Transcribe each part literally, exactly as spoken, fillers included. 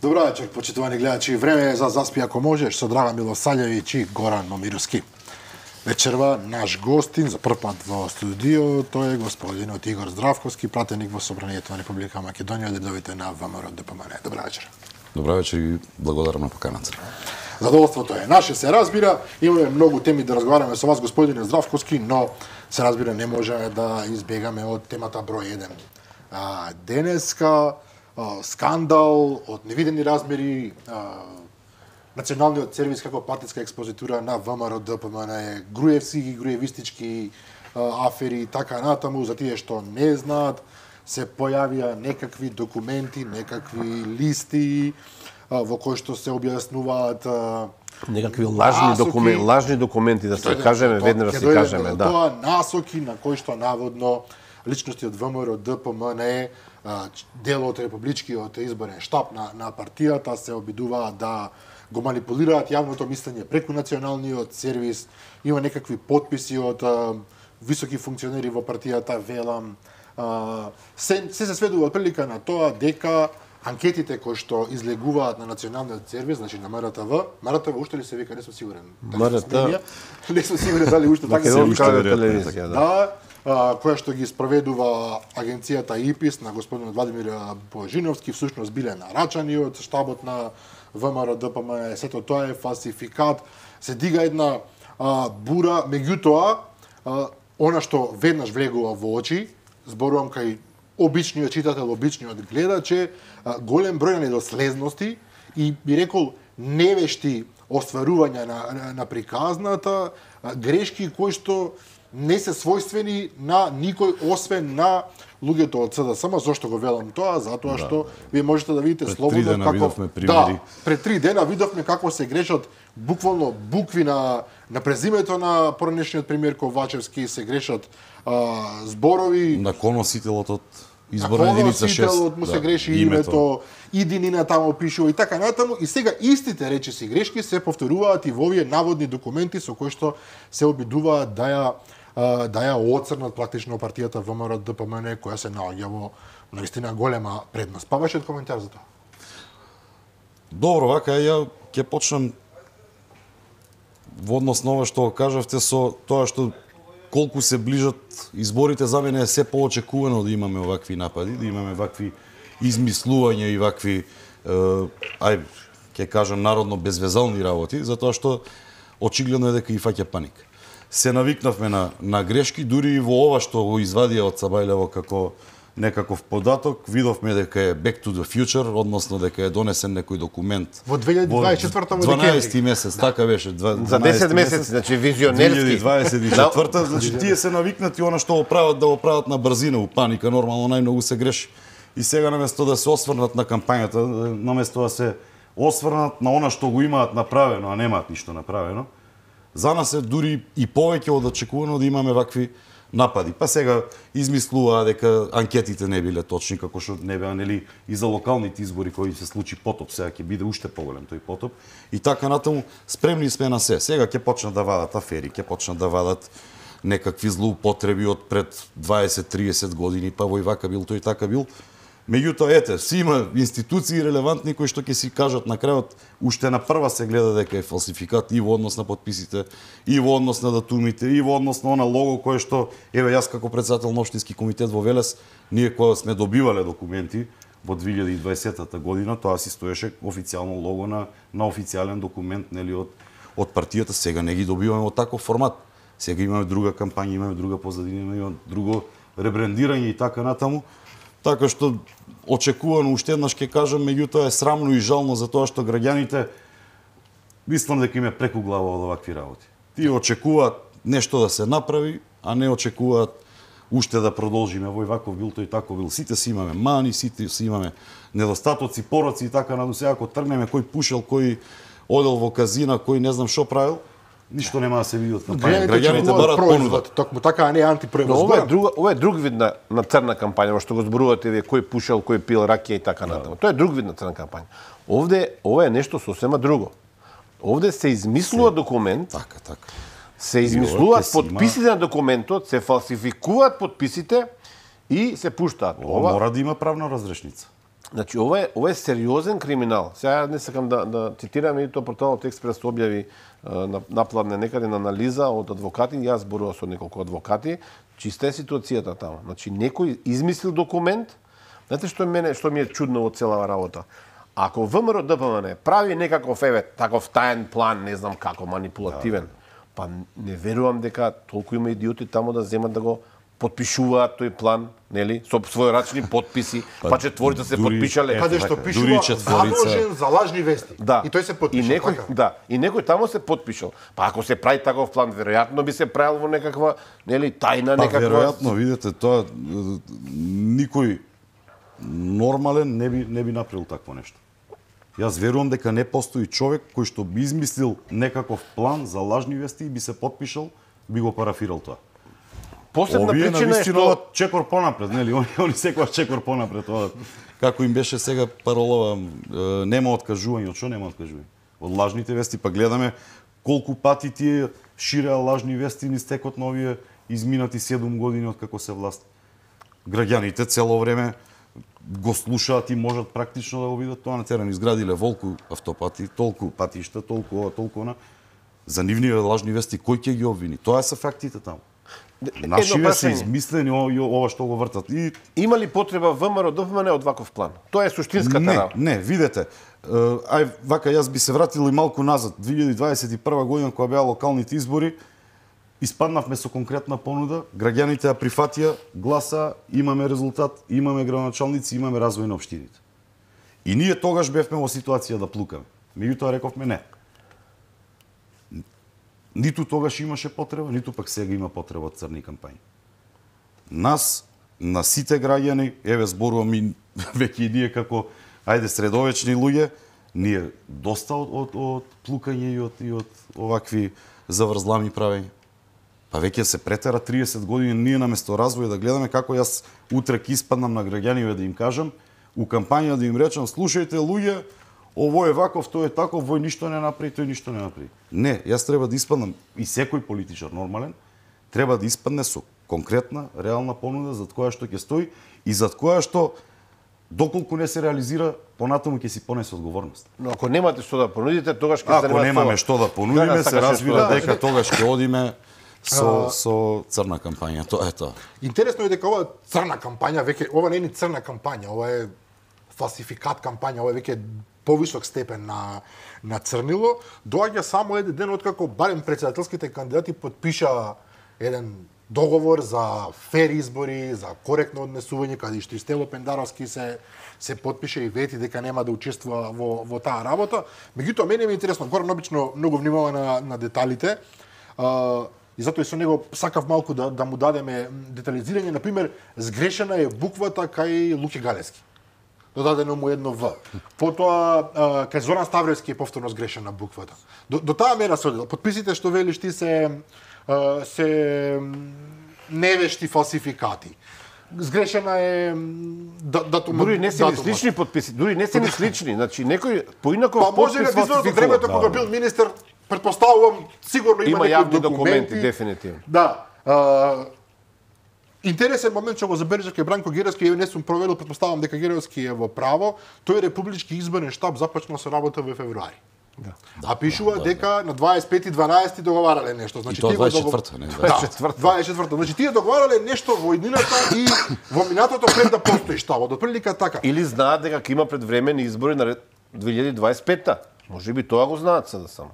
Добро вечер, почитувани гледачи. Време е за Заспи ако можеш со Драган Милосављевиќ и Горан Момировски. Вечерва наш гостин за прв пат во студио, тој е господинот Игор Здравковски, пратеник во Собранието на Република Македонија, дедовите на ВМРО ДПМН. Добро вечер. Добро вечер и благодарам на поканата. Задоволството е наше, се разбира. Имаме многу теми да разговараме со вас, господине Здравковски, но се разбира не можеме да избегаме од темата број еден. А, денеска а, скандал од невидени размери, а, Националниот сервис како партиска експозитура на ВМРО ДПМН, груевски и груевистички а, афери и така натаму, за тие што не знаат, се појавија некакви документи, некакви листи а, во кои што се објаснуваат а, некакви лажни документи, лажни документи да се кажеме, веднаш да се кажеме, да. Тоа насоки на кои што наводно личности од ВМРО ДПМН, дел од републичкиот изборен штаб на на партијата се обидуваат да го манипулираат јавното мислење преку националниот сервис. Има некакви потписи од а, високи функционери во партијата, велам. А, се, се се сведува од прилика на тоа дека анкетите кои што излегуваат на националниот сервис, значи на МРТВ, МРТВ уште ли се вика, не сум сигурен. МРТВ, не сум сигурен дали уште така се вика телевизија, да. А, која што ги спроведува агенцијата ИПИС на господинот Владимир Божиновски, всушност биле нарачани од штабот на ВМРО ДПМН, сето тоа е фалсификат, се дига една а, бура, меѓутоа, а, она што веднаш влегува во очи, зборувам кај обичниот читател, обичниот гледач, е а, голем број на недослезности и би рекол невешти остварувања на, на, на приказната, а, грешки кои што не се својствени на никој освен на луѓето од СДСМ. Зошто го велам тоа? Затоа да. што вие можете да видите пред слободно како видовме примери. Да, пред три дена видовме како се грешат буквално букви на на презимето на поранешниот премиер Ковачевски, се грешат а, зборови на коносителот од изборна единица шест. му се да, греши името, името идинина таму пишува и така натаму, и сега истите речиси грешки се повторуваат и во овие наводни документи со кои што се обидуваат да ја да ја оцрнат практично партијата ВМРО ДПМН, која се наоѓа во наистина голема предност. Па вашиот коментар за тоа? Добро, вака ја ќе почнам во однос на ова што кажавте со тоа што колку се ближат изборите, за мене е се поочекувано да имаме овакви напади, да имаме вакви измислувања и вакви е, ај ќе кажам народно безвезални работи, затоа што очигледно е дека и фаќа паника. Се навикнавме на, на грешки, дури и во ова што го извадија од Цабајлево како некаков податок, видовме дека е back to the future, односно дека е донесен некој документ во две илјади дваесет и четврта дванаесети месец, да. Така беше, за десет месеци, значи визионерски. две илјади дваесет и четврта, значи тие се навикнати она што го прават да го прават на брзина, у паника, нормално најмногу се греши. И сега наместо да се осврнат на кампањата, наместо да се осврнат на она што го имаат направено, а немаат ништо направено, за нас е дури и повеќе од очекувано да имаме вакви напади. Па сега измислуваа дека анкетите не биле точни, како што не беа, нели, и за локалните избори кои се случи потоп, сега ќе биде уште поголем тој потоп. И така натаму спремни сме на се. Сега ќе почнат да вадат афери, ќе почнат да вадат некакви злоупотреби од пред дваесет-триесет години, па вој вака бил, тој така бил. Меѓутоа, ете, си има институции релевантни кои што ќе си кажат на крајот, уште на прва се гледа дека е фалсификат и во однос на подписите, и во однос на датумите, и во однос на она лого кое што, еве јас како председател на општински комитет во Велес, ние кога сме добивале документи во две илјади и дваесета година, тоа си стоеше официјално лого на на официјален документ, нели, од од партијата. Сега не ги добиваме во таков формат. Сега имаме друга кампања, имаме друга позадина, имаме друго ребрендирање и така натаму. Така што очекувано уште еднаш ќе кажам, меѓутоа е срамно и жално за тоа што граѓаните мислам дека им е преку глава од овакви работи. Тие очекуваат нешто да се направи, а не очекуваат уште да продолжиме. Вој ваков бил, тој тако бил. Сите си имаме мани, сите си имаме недостатоци, пороци и така надо. Сега ако тргнеме кој пушел, кој одел во казина, кој не знам што правил, ништо нема да се види од кампања. Граѓаните барат понуда. Токму така, а не антипроивод. Но ова е друг, ова е друг вид на, на црна кампања, во што го зборувате вие кој пушел, кој пил ракија и така натаму. Тоа е друг вид на црна кампања. Овде ова е нешто сосема друго. Овде се измислува документ. Така, така. Се измислуваат подписите на документот, се фалсификуваат подписите и се пуштаат. Ова мора да има правна разрешница. Значи, ова е, ова е сериозен криминал. Сега не сакам да, да цитирам, и тоа порталот Експрес објави напладне некаде на анализа од адвокати, јас зборував со неколку адвокати, чиста е ситуацијата таму. Значи, некој измислил документ. Знаете што мене, што ми е чудно од целава работа? Ако ВМРО Д П М Н прави некаков еве таков таен план, не знам како, манипулативен, па не верувам дека толку има идиоти таму да земат да го потпишуваат тој план, нели, со својорачни потписи, па, па четворица се дури, потпишале. Каде што пишува задолжен за лажни вести. Да. И тој се потпишал. И некој, така? да, и некој таму се потпишал. Па ако се прави таков план, веројатно би се правил во некаква, нели, тајна Па некаква. веројатно, видете, тоа никој нормален не би не би направил такво нешто. Јас верувам дека не постои човек кој што би измислил некаков план за лажни вести и би се потпишал, би го парафирал тоа. Посебна Овие причина е навистина што чекор понапред, нели? Они они секогаш чекор понапред, тоа како им беше сега паролава, е, нема откажување, од што нема откажување? Од лажните вести, па гледаме колку пати тие ширеа лажни вести низ текот на овие изминати седум години од како се власт. Граѓаните цело време го слушаат и можат практично да го видат тоа на терен. Изградиле волку автопати, толку патишта, толку ова, толку она. За нивни лажни вести кој ќе ги обвини? Тоа се фактите таму. Нашиве се измислени ова што го вртат. И има ли потреба ВМРО Д П М Н од ваков план? Тоа е суштинската не, работа. не, видете. Ај вака јас би се вратил и малку назад. две илјади дваесет и прва година кога беа локалните избори, испаднавме со конкретна понуда, граѓаните ја прифатија, гласа, имаме резултат, имаме градоначалници, имаме развој на општините. И ние тогаш бевме во ситуација да плукаме. Меѓутоа рековме не. Ниту тогаш имаше потреба, ниту пак сега има потреба од црни кампањи. Нас, на сите граѓани, еве зборувам и веќе и ние како, ајде, средовечни луѓе, ние доста од, од, од плукање и од, и од овакви заврзлами правења. Па веќе се претера триесет години, ние наместо развој да гледаме како јас утре ќе испаднам на граѓаниве да им кажам, у кампања да им речам, слушајте луѓе, ово е ваков, тој е таков, вој ништо не направи, тој ништо не направи. Не, јас треба да испаднам, и секој политичар нормален, треба да испадне со конкретна, реална понуда зад која што ќе стои и зад која што доколку не се реализира, понатаму ќе си понесе одговорност. Но ако немате што да понудите, тогаш ќе се Ако немаме што да понудиме, се разбира дека тогаш ќе одиме со со црна кампања. Тоа е тоа. Интересно е дека ова црна кампања веќе ова не е ни црна кампања, ова е фалсификат кампања, ова е веќе повисок степен на на црнило, доаѓа само еден ден откако барем претседателските кандидати потпиша еден договор за фер избори, за коректно однесување, каде што и Стело Пендаровски се се потпише и вети дека нема да учествува во во таа работа. Меѓутоа мене ми е интересно, Горан обично многу внимава на на деталите. А, и затоа и со него сакав малку да да му дадеме детализирање, на пример, сгрешена е буквата кај Луки Галевски. Додадено му едно В. Потоа кај Зоран Ставревски е повторно сгрешена буквата. До, до таа мера се одел. Подписите што велиш ти се се невешти фалсификати. Сгрешена е датумот. Дури не се ни слични подписи, дури не се ни слични. Значи некој поинаков па може на изборното времето кога бил министер, претпоставувам сигурно има, има некои јавни документи, документи дефинитивно. Да. А, интересен момент што го забележав кај Бранко Геровски, ја не сум проверил, претпоставувам дека Геровски е во право, тој републички изборен штаб започнал со работа во февруари. Да. А пишува да, дека да, да. на дваесет и пети дванаести договарале нешто. Значи, и тоа дваесет и четврта, не дваесет и четврта. дваесет и четврта. Значи тие договарале нешто во иднината и во минатото пред да постои штабот. До прилика така. Или знаат дека ќе има предвремени избори на две илјади дваесет и петта. Може би тоа го знаат сега само.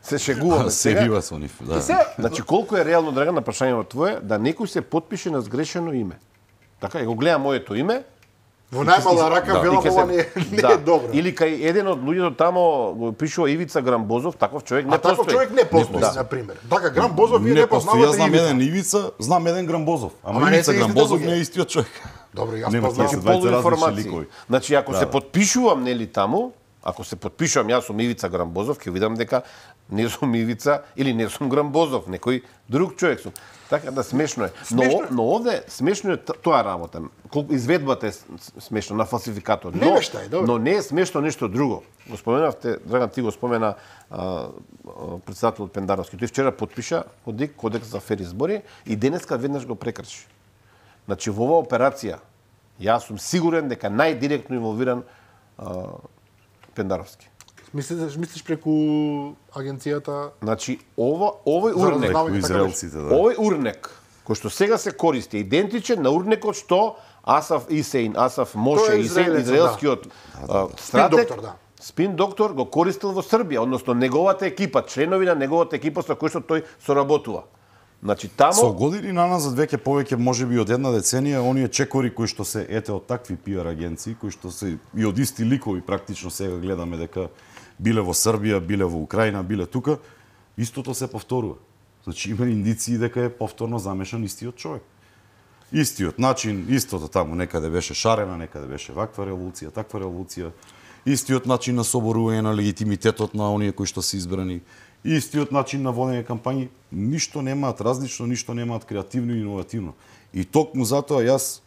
Се шегуваме сега. Се бива со нив, да. И сега, значи колку е реално, Драган, на прашањето твое, да некој се потпише на сгрешено име. Така, ја го гледам моето име. Во најмала рака да, велам ова не, не да. е добро. Или кај еден од луѓето тамо го пишува Ивица Грамбозов, таков човек не а постои. А таков човек не постои, да. На пример. Така Грамбозов вие не, не познавате Ивица. Јас знам Ивица. еден Ивица, знам еден Грамбозов. Ама, Ама Ивица Грамбозов не е истиот човек. Добро, јас Нема, познавам. се дваесет полуинформации. ликови. Значи ако да, се да. потпишувам нели таму, ако се потпишувам јас сум Ивица Грамбозов, ќе видам дека не сум Ивица или не сум Грамбозов, некој друг човек сум. Така да смешно е. Но, смешно е. Но овде смешно е тоа работа. Колку изведбата е смешно на фалсификатот. Но, е, но не е смешно нешто друго. Го споменавте, Драган, ти го спомена а, а, председателот Пендаровски. Тој вчера потпиша Кодек, кодекс за фер избори и денеска веднаш го прекрши. Значи во оваа операција Јас сум сигурен дека најдиректно инволвиран а, Пендаровски. Мислиш, мислиш преку агенцијата? Значи, ова, овој За урнек, разузнавање, така израелците, да. овој урнек, кој што сега се користи, е идентичен на урнекот што Асаф Исеин, Асаф Моше Тој е Исеин, израелецот, израелскиот а, Спин стратег, доктор, да. спин доктор го користил во Србија, односно неговата екипа, членови на неговата екипа со кои што тој соработува. Значи тамо Со години наназад веќе повеќе можеби од една деценија оние чекори кои што се ете од такви пиар агенции, кои што се и од исти ликови практично сега гледаме дека биле во Србија, биле во Украина, биле тука, истото се повторува. Значи има индиции дека е повторно замешан истиот човек. Истиот начин, истото таму некаде беше шарена, некаде беше ваква револуција, таква револуција, истиот начин на соборување на легитимитетот на оние кои што се избрани, истиот начин на водење кампањи, ништо немаат различно, ништо немаат креативно и иновативно. И токму затоа јас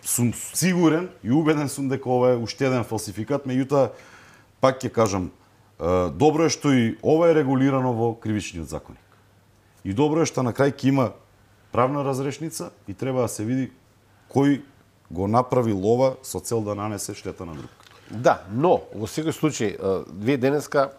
сум сигурен и убеден сум дека ова е уште еден фалсификат, меѓутоа пак ќе кажам, добро е што и ова е регулирано во кривичниот законник. И добро е што на крај ќе има правна разрешница и треба да се види кој го направил ова со цел да нанесе штета на друг. Да, но во секој случај вие денеска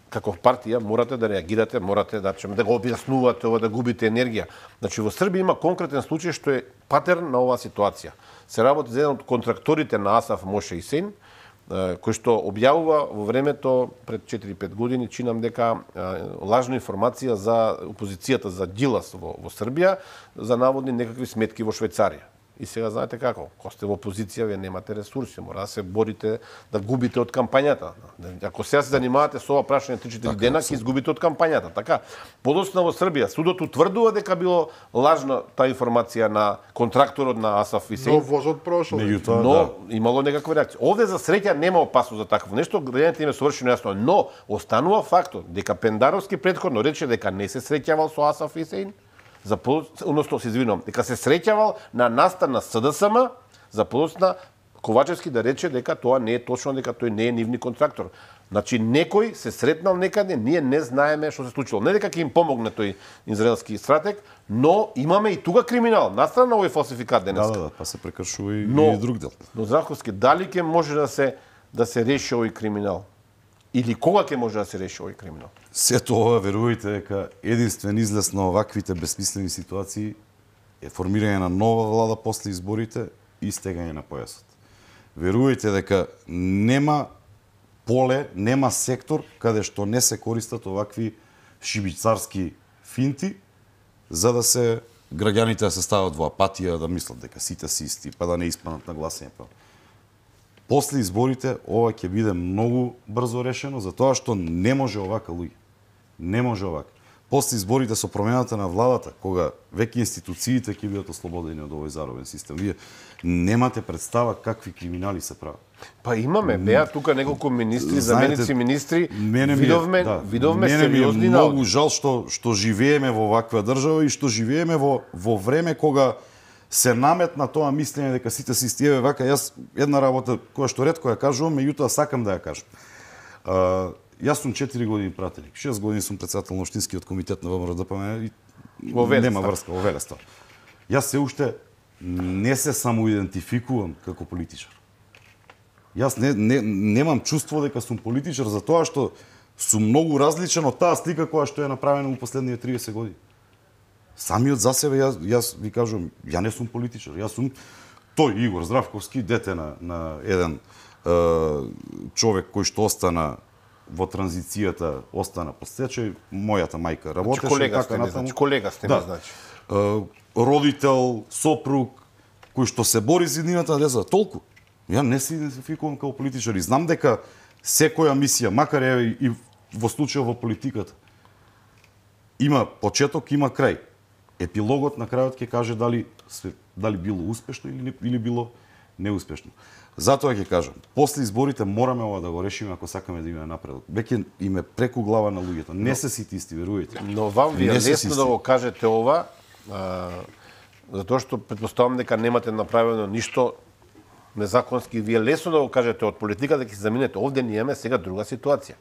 како партија морате да реагирате, морате да да го објаснувате ова, да губите енергија. Значи во Србија има конкретен случај што е патерн на оваа ситуација. Се работи за еден од контракторите на Асаф Моше Исеин, кој што објавува во времето пред четири-пет години, чинам дека лажна информација за опозицијата за Ѓилас во, во Србија за наводни некакви сметки во Швајцарија. И сега знаете како, кога сте во опозиција, вие немате ресурси, мора да се борите да губите од кампањата. Ако сега се занимавате со ова прашање три-четири дена, ќе изгубите од кампањата. Така, подоцна во Србија, судот утврдува дека било лажна таа информација на контракторот на Асаф Исеин. Но возот прошол. Меѓутоа, Но да. имало некаква реакција. Овде за среќа нема опасност за такво нешто, граѓаните им е совршено јасно, но останува фактот дека Пендаровски претходно рече дека не се среќавал со Асаф Исеин, за односно се извинувам, дека се среќавал на настан на СДСМ, за подоцна Ковачевски да рече дека тоа не е точно, дека тој не е нивни контрактор. Значи некој се сретнал некаде, ние не знаеме што се случило. Не дека ќе им помогне тој израелски стратег, но имаме и тука криминал, настрана на овој фалсификат денес. Да, да, да, па се прекршува и, Но- и друг дел. Но Здравковски, дали ќе може да се да се реши овој криминал? Или кога ќе може да се реши овој криминал? Сето ова, верувајте дека единствен излез на оваквите бесмислени ситуации е формирање на нова влада после изборите и стегање на појасот. Верувајте дека нема поле, нема сектор каде што не се користат овакви шибицарски финти за да се граѓаните да се стават во апатија, да мислат дека сите се исти, па да не испаднат на гласење. Па. После изборите ова ќе биде многу брзо решено, затоа што не може овака, луѓе. Не може овака. После изборите со промената на владата, кога веќе институциите ќе бидат ослободени од овој заробен систем, вие немате представа какви криминали се прават. Па имаме, беа тука неколку министри, Знаете, заменици министри, Мене ми е, видовме, да, видовме мене ми е сериозни многу наоди. жал што што живееме во ваква држава и што живееме во во време кога се наметна тоа мислење дека сите се исти. Еве вака, јас една работа која што ретко ја кажувам, меѓутоа сакам да ја кажам. А, јас сум четири години пратеник, шест години сум претседател на општинскиот комитет на ВМРО-ДПМН и Во Велес, нема така. врска во Велес. Јас се уште не се самоидентификувам како политичар. Јас не, не, немам чувство дека сум политичар за тоа што сум многу различен од таа слика која што е направена во последните триесет години. Самиот за себе, јас, јас ви кажувам, ја не сум политичар. Јас сум тој Игор Здравковски, дете на, на еден е, човек кој што остана во транзицијата, остана под стечај, мојата мајка работеше. Значи, колега така сте ми, натаму. значи, колега сте ми, Да. значи. Е, родител, сопруг, кој што се бори за еднината деза, толку. Ја не се идентификувам како политичар и знам дека секоја мисија, макар е и во случајот во политиката, има почеток, има крај. Епилогот на крајот ќе каже дали се, дали било успешно или или било неуспешно. Затоа ќе кажам, после изборите мораме ова да го решиме ако сакаме да имаме напредок. Веќе им е преку глава на луѓето. Не се сите исти, верувајте. Но вам ви е Не се лесно систем. да го кажете ова, а, затоа што претпоставам дека немате направено ништо незаконски. Ви е лесно да го кажете од политика, да ќе се заминете. Овде ние имаме сега друга ситуација.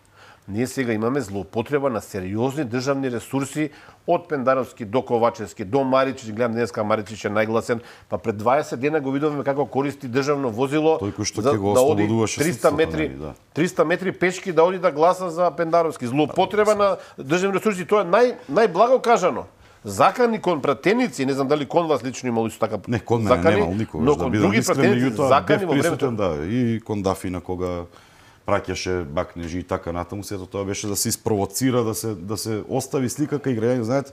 Ние сега имаме злоупотреба на сериозни државни ресурси од Пендаровски до Ковачевски до Маричич. Гледам денеска Маричич е најгласен. Па пред дваесет дена го видовме како користи државно возило Тој за го да оди ослободуваше триста метри, да. триста метри пешки да оди да гласа за Пендаровски. Злоупотреба на државни ресурси, тоа е нај најблаго кажано. Закани кон пратеници, не знам дали кон вас лично имало исто така не, кон мене закани, немал никогаш, но да кон бидам други искрен, пратеници закани во времето. Да, и кон Дафи на кога праќаше бакнежи и така натаму, сето тоа беше да се испровоцира, да се да се остави слика кај граѓани, знаете,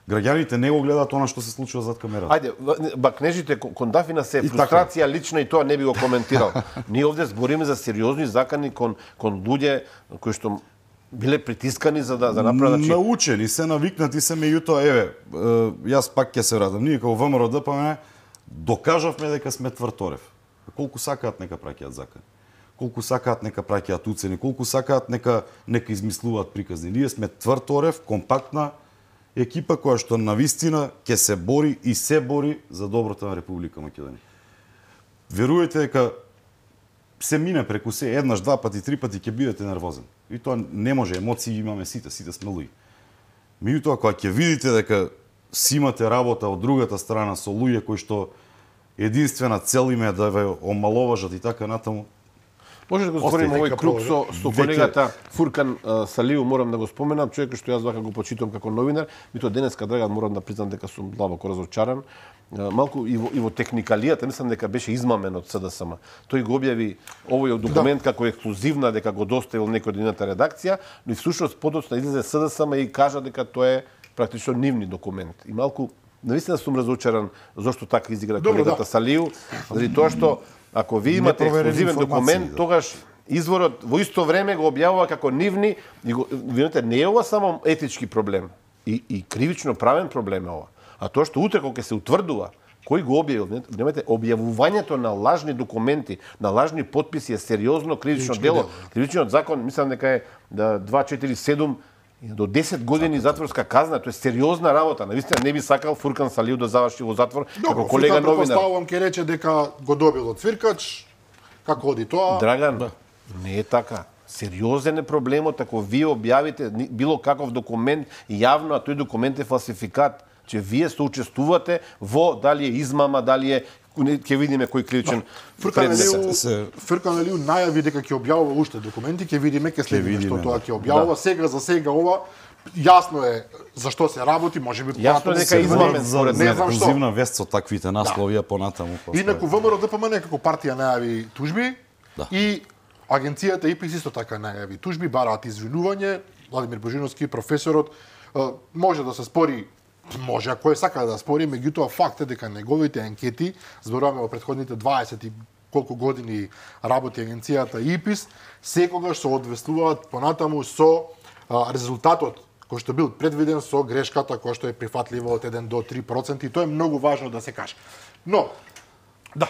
граѓаните не го гледаат она што се случува зад камерата. Ајде, бакнежите кон Дафина се фрустрација лична и тоа не би го коментирал. Ние овде збориме за сериозни закани кон кон луѓе кои што биле притискани за да за направат, значи научени се, навикнати се, меѓутоа еве, јас пак ќе се вратам. Ние како ВМРО Д П М докажавме дека сме тврторев. Колку сакаат нека праќаат закани. Колку сакаат нека праќаат уцени, колку сакаат нека нека измислуваат приказни. Ние сме тврторев, компактна екипа која што навистина ќе се бори и се бори за доброто на Република Македонија. Верујте дека се мине преку се, еднаш, два пати, три пати ќе бидете нервозен. И тоа не може, емоции имаме сите, сите сме луѓе. Меѓутоа, кога ќе видите дека си имате работа од другата страна со луѓе кои што единствена цел им е да ве омаловажат и така натаму, може да го збориме овој круг со, со колегата Фуркан uh, Салиу, морам да го споменам, човек што јас вака го почитувам како новинар, меѓутоа денеска, Драган, морам да признам дека сум длабоко разочаран. Uh, малку и во, и во техникалијата, мислам дека беше измамен од С Д С М. Тој го објави овој документ да. како ексклузивна, дека го доставил некој од нивната редакција, но и всушност подоцна излезе С Д С М и кажа дека тоа е практично нивни документ. И малку навистина сум разочаран зошто така изигра Добро, колегата да. Салиу, заради тоа што ако ви имате ексклузивен документ, да. тогаш изворот во исто време го објавува како нивни и го, видите, не е ова само етички проблем и, и кривично правен проблем е ова. А тоа што утре кога ќе се утврдува кој го објавил, немате објавувањето на лажни документи, на лажни потписи е сериозно кривично дело. Кривичниот закон мислам дека е да дваесет и четири седум до десет години затворска казна, тоа е сериозна работа. Навистина не би сакал Фуркан Салиу да заврши во затвор како колега новинар. Предпоставувам ќе рече дека го добил од цвиркач, како оди тоа? Драган, да. Не е така. Сериозен е проблемот ако вие објавите било каков документ јавно, а тој документ е фалсификат, че вие соучествувате во дали е измама, дали е ќе видиме кој кривичен предмет. Фуркан Алиу најави дека ќе објавува уште документи, ќе видиме, ќе следиме што тоа ќе објавува. Да. Сега за сега ова јасно е за што се работи, можеби јасно дека е измамен според мене. Ексклузивна вест со таквите наслови, а понатаму. Инаку ВМРО Д П М некако партија најави тужби да. И агенцијата И П И С исто така најави тужби, бараат извинување. Владимир Божиновски, професорот, може да се спори, може ако е сака да спори, меѓутоа факт е дека неговите анкети, зборуваме во претходните дваесет и колку години работи агенцијата И П И С, секогаш се одвестуваат понатаму со а, резултатот кој што бил предвиден со грешката која што е прифатлива од еден до три проценти, и тоа е многу важно да се каже. Но да,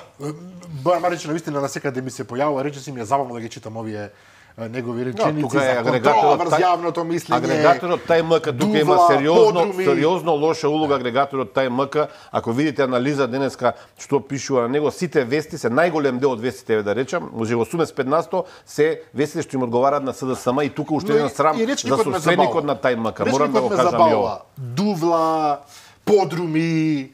Бојан Марич навистина на секаде ми се појавува, речиси ми е забавно да ги читам овие негови реченици no, за контрола врз јавното мислење. Агрегаторот тај М К тука има сериозно подруми. сериозно лоша улога агрегаторот тај М К. Ако видите анализа денеска што пишува на него, сите вести се најголем дел од вестите да речам, може осумдесет и пет на сто се вестите што им одговараат на С Д С М и тука уште еден срам за соседникот на тај М К. Морам да го кажам и ова. Дувла, подруми,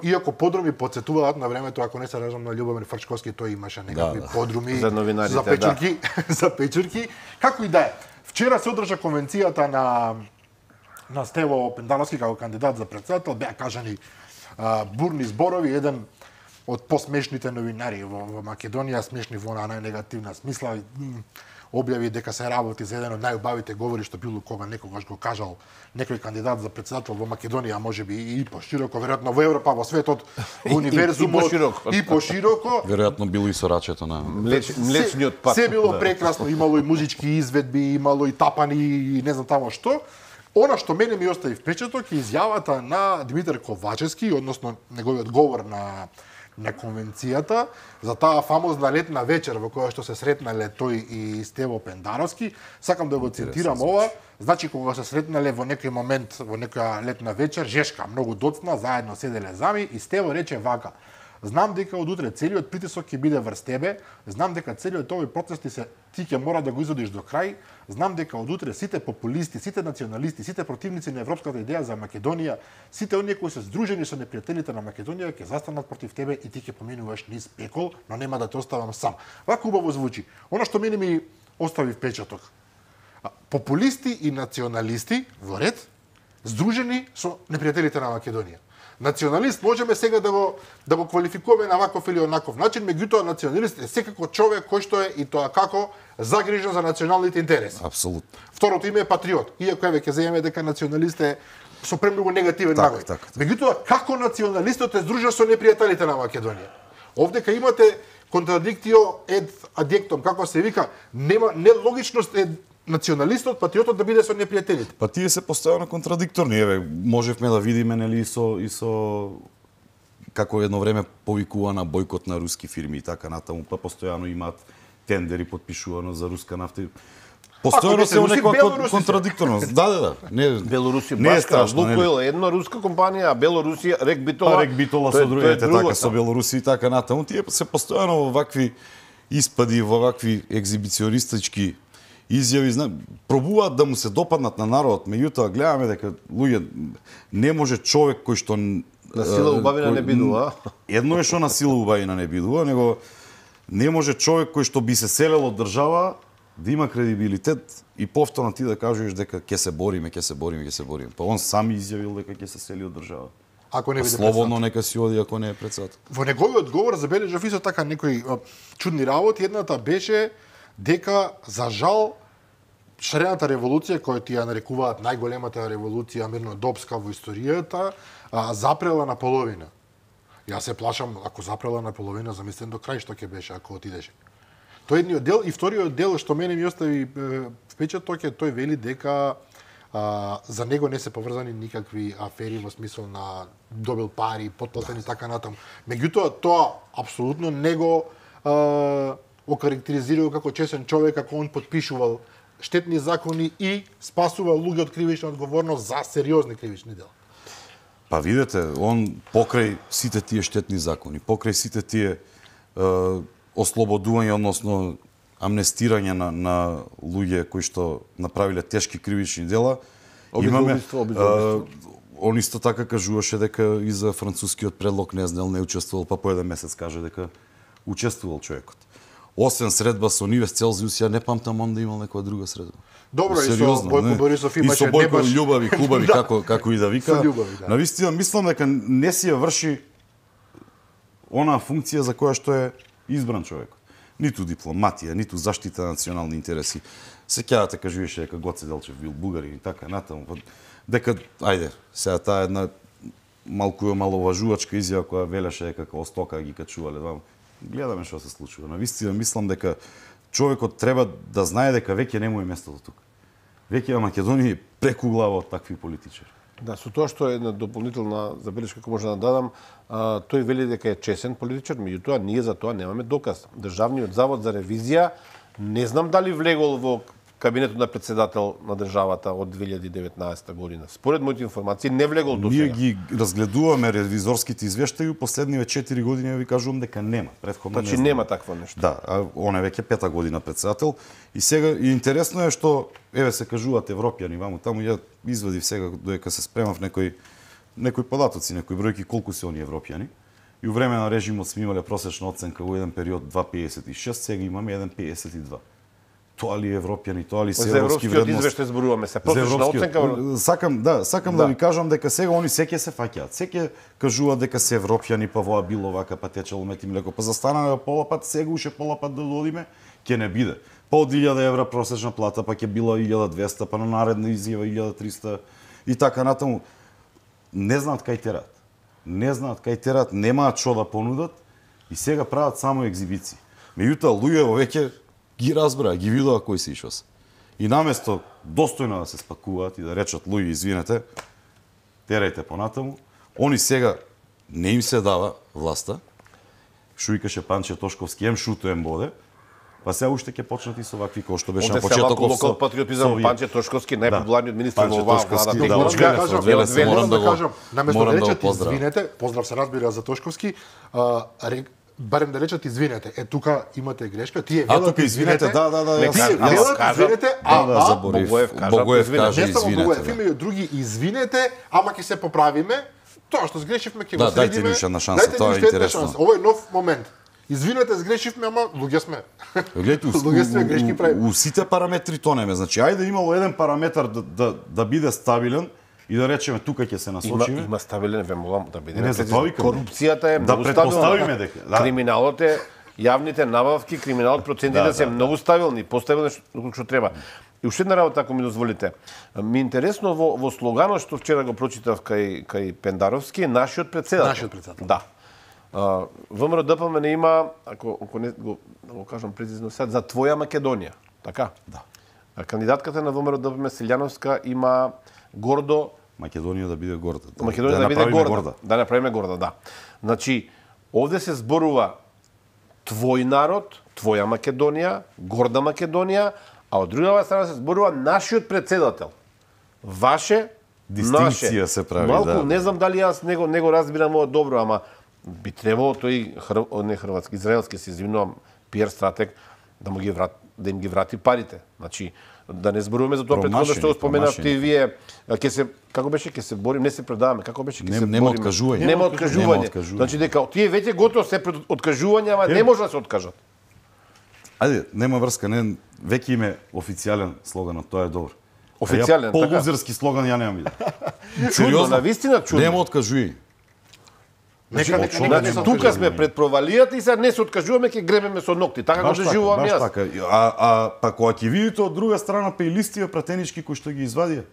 иако подруми подсетуваат на времето, ако не се лажам, на Љубомир Фрчковски, тој имаше некакви да, да. подруми за, за печурки, да. за печурки. Како и да е. Вчера се одржа конвенцијата на на Стево Пендановски како кандидат за претседател, беа кажани а, бурни зборови, еден од посмешните новинари во, во Македонија, смешни во на најнегативна смисла, објави дека се работи за еден од најубавите говори што било кога некогаш го кажал некој кандидат за претседател во Македонија, можеби и пошироко, веројатно во Европа, во светот, во универзумот, и, и пошироко. И пошироко. Веројатно било и со рачето на Млеч, млечниот пат. Се било да. прекрасно, имало и музички изведби, имало и тапани и не знам тамо што. Она што мене ми остави впечаток е изјавата на Димитар Ковачевски, односно неговиот говор на на конвенцијата за таа фамозна летна вечер во која што се сретнале тој и Стево Пендаровски. Сакам да го цитирам ова. Значи, кога се сретнале во некој момент, во некоја летна вечер, жешка, многу доцна, заедно седеле зами и Стево рече вака: знам дека од утре целиот притисок ќе биде врз тебе, знам дека целиот овој процес ти се ти ќе мора да го изводиш до крај, знам дека од утре сите популисти, сите националисти, сите противници на европската идеја за Македонија, сите оние кои се здружени со непријателите на Македонија ќе застанат против тебе и ти ќе поминуваш низ пекол, но нема да те оставам сам. Вака убаво звучи. Она што мене ми остави впечаток. Популисти и националисти во ред, здружени со непријателите на Македонија. Националист можеме сега да го да го квалификуваме на ваков или онаков начин, меѓутоа националист е секако човек кој што е и тоа како загрижен за националните интереси. Апсолутно. Второто име е патриот, иако еве ќе земеме дека националист е со премногу негативен так, наглед. так, так. Меѓутоа како националистот е здружен со непријателите на Македонија? Овде кај имате контрадиктио ед адјектом, како се вика, нема нелогичност е националистот, патриотот да биде со непријателите. Па тие се постојано контрадикторни, еве, можевме да видиме нели и со и со како едно време повикува на бојкот на руски фирми и така натаму, па постојано имаат тендери подпишувано за руска нафта. Постојано се некоја контрадикторност. Да, да, да. Не, Белорусија, не е страшно, Лукойл е една руска компанија, а Белорусија, Рек Битола, Рек Битола со другите така со Белорусија и така натаму. Тие се постојано во вакви испади, во вакви екзибиционистички изјави, знам, пробуваат да му се допаднат на народот, меѓутоа гледаме дека луѓе не може човек кој што на сила убавина не бидува. Едно е што на сила убавина не бидува, него не може човек кој што би се селел од држава да има кредибилитет и повторно ти да кажеш дека ќе се бориме, ќе се бориме, ќе се бориме. Па он сам изјавил дека ќе се сели од држава. Ако не биде слободно нека си оди ако не е председател. Во неговиот одговор забележав исто така некои чудни работи. Едната беше дека за жал шарената револуција, која ти ја нарекуваат најголемата револуција мирнодопска во историјата, а, запрела на половина. Јас се плашам, ако запрела на половина, замислен до крај што ќе беше ако отидеше. Тој едниот дел и вториот дел што мене ми остави впечаток е тој вели дека а, за него не се поврзани никакви афери во смисол на добил пари, подплатени и така натаму. Меѓутоа тоа апсолутно не го а, окарактеризирал како чесен човек, како он подпишувал штетни закони и спасува луѓе од кривична одговорност за сериозни кривични дела. Па видете, он покрај сите тие штетни закони, покрај сите тие е, ослободување, односно амнестирање на, на луѓе кои што направиле тешки кривични дела, имаме он исто така кажуваше дека и за францускиот предлог не знел, не учествувал, па по еден месец каже дека учествувал човекот. Освен средба со Нивес Целзиус, ја не памтам он да имал некоја друга средба. Добро, сериозно, и со Бојко не? Борисов имаше и со Бојко баш... љубави, хубави, да. како, како и да вика. Со љубави, да. Навистина, мислам дека не си ја врши она функција за која што е избран човек. Ниту дипломатија, ниту заштита на национални интереси. Сеќавате кажуваше дека Гоце Делчев бил бугарин и така натаму. Дека, ајде, сега таа една малку маловажувачка изјава која велеше дека како стока ги качувале два. Гледаме што се случува. Навистина мислам дека човекот треба да знае дека веќе не му е местото тука. Веќе во Македонија преку глава од такви политичари. Да, со тоа што е една дополнителна забелешка која може да дадам, а, тој вели дека е чесен политичар, меѓутоа ние за тоа немаме доказ. Државниот завод за ревизија не знам дали влегол во кабинетот на председател на државата од две илјади и деветнаесета година. Според моите информации не влегол до сега. Ние ги разгледуваме ревизорските извештаи и последниве четири години ви кажувам дека нема. Претходно значи не нема такво нешто. Да, а он е веќе пета година председател и сега и интересно е што еве се кажуваат европјани ваму таму, ја извадив сега додека се спремав некои некои податоци, некои бројки колку се они европјани. И во време на режимот сме имале просечна оценка во еден период два целу пеесет и шест, сега имаме еден целу пеесет и два. Тоа ли европјани, тоа ли се европски вредности? За европскиот извештај зборуваме се. Просечна оценка. Сакам, да, сакам да. да ви кажам дека сега они секе се фаќаат. Секе кажуваат дека се европјани, па воа било вака, па течело мети млеко, па застанаме пола пат, сега уште пола пат да додиме, ќе не биде. Па од илјада евра просечна плата, па ќе било илјада двеста, па на наредна изјава илјада триста и така натаму. Не знаат кај терат. Не знаат кај терат, немаат што да понудат и сега прават само екзибиции. Меѓутоа луѓе веќе ги разбраа, ги видоа кои се ишо се. И наместо достојно да се спакуваат и да речат луѓе извинете, терајте понатаму, они сега не им се дава власта. Што викаше Панче Тошковски, ем шуто ем боде. Па сега уште ќе почнат и со вакви кои што беше на Овде почетокот локал патриотизам, Панче Тошковски, најпопуларниот министар во оваа влада. да, Морам да кажам, Веле се, морам да го кажам, наместо да морам да го речат поздравам. извинете, поздрав се разбира за Тошковски, а, ре- барем да речат извинете. Е тука имате грешка, тие А велат тука извинете, да, да, да, Не, јас- Тие Аз велат кажам, извинете, да, да, ама заборив. Богоев кажа, Богоев извинете. каже не само Богоев, извинете. има и други извинете, ама ќе се поправиме. Тоа што сгрешивме ќе Да, го дајте средиме. ни уште една шанса, Дајте тоа ни е уште една интересно. шанса. Ово е нов момент. Извинете, сгрешивме, ама луѓе сме. Гледайте, у, Луѓе сме, грешки у, правиме. у, у сите параметри тонеме. Значи, ајде имало еден параметар да, да, да биде стабилен и да речеме тука ќе се Има, насочиме. има стабилен, ве молам да биде. Не, за тоа викам. Корупцијата е Да многу претпоставиме стабилна. дека, да. Криминалот е, јавните набавки, криминалот процентите Да, се да, многу стабилни, поставилни што, што треба. И уште една работа, ако ми дозволите. Ми е интересно во, во слоганот што вчера го прочитав кај, кај Пендаровски, е нашиот председател. Нашиот председател. Да. Uh, ВМРО Д П М Н има, ако, ако не го, да го кажам прецизно сега, за твоја Македонија. Така? Да. А кандидатката на ВМРО Д П М Селјановска има гордо Македонија да биде горда. Македонија да, биде направиме горда. Да направиме горда, да. Значи, овде се зборува твој народ, твоја Македонија, горда Македонија, а од другава страна се зборува нашиот председател. Ваше, Дистинкција наше. се прави, Малку, да. не знам дали јас него, него разбирам ова добро, ама би требало тој хр... не хрватски, израелски, се извинувам, пиар стратег, да му ги врат, да им ги врати парите. Значи, да не зборуваме за тоа претходно што го споменавте и вие, ќе се како беше ќе се борим, не се предаваме, како беше ќе Не- се нема бориме. откажување. Нема Нема откажување. откажување. Значи дека тие веќе готово се пред откажување, ама не може да се откажат. Ајде, нема врска, не, веќе име официјален слоганот, тоа е добро. Официјален, така? така? Полузерски слоган ја немам виде. Чудно, на вистина чудно. Нема откажувај. Нека, нека, нека, Значи, не се тука откажуваме. сме пред провалијата и сега не се откажуваме, ќе гребеме со ногти. Така го Баш така, доживувам баш јас. така. А, а па кога ќе видите од друга страна па и листиве пратенички кои што ги извадија.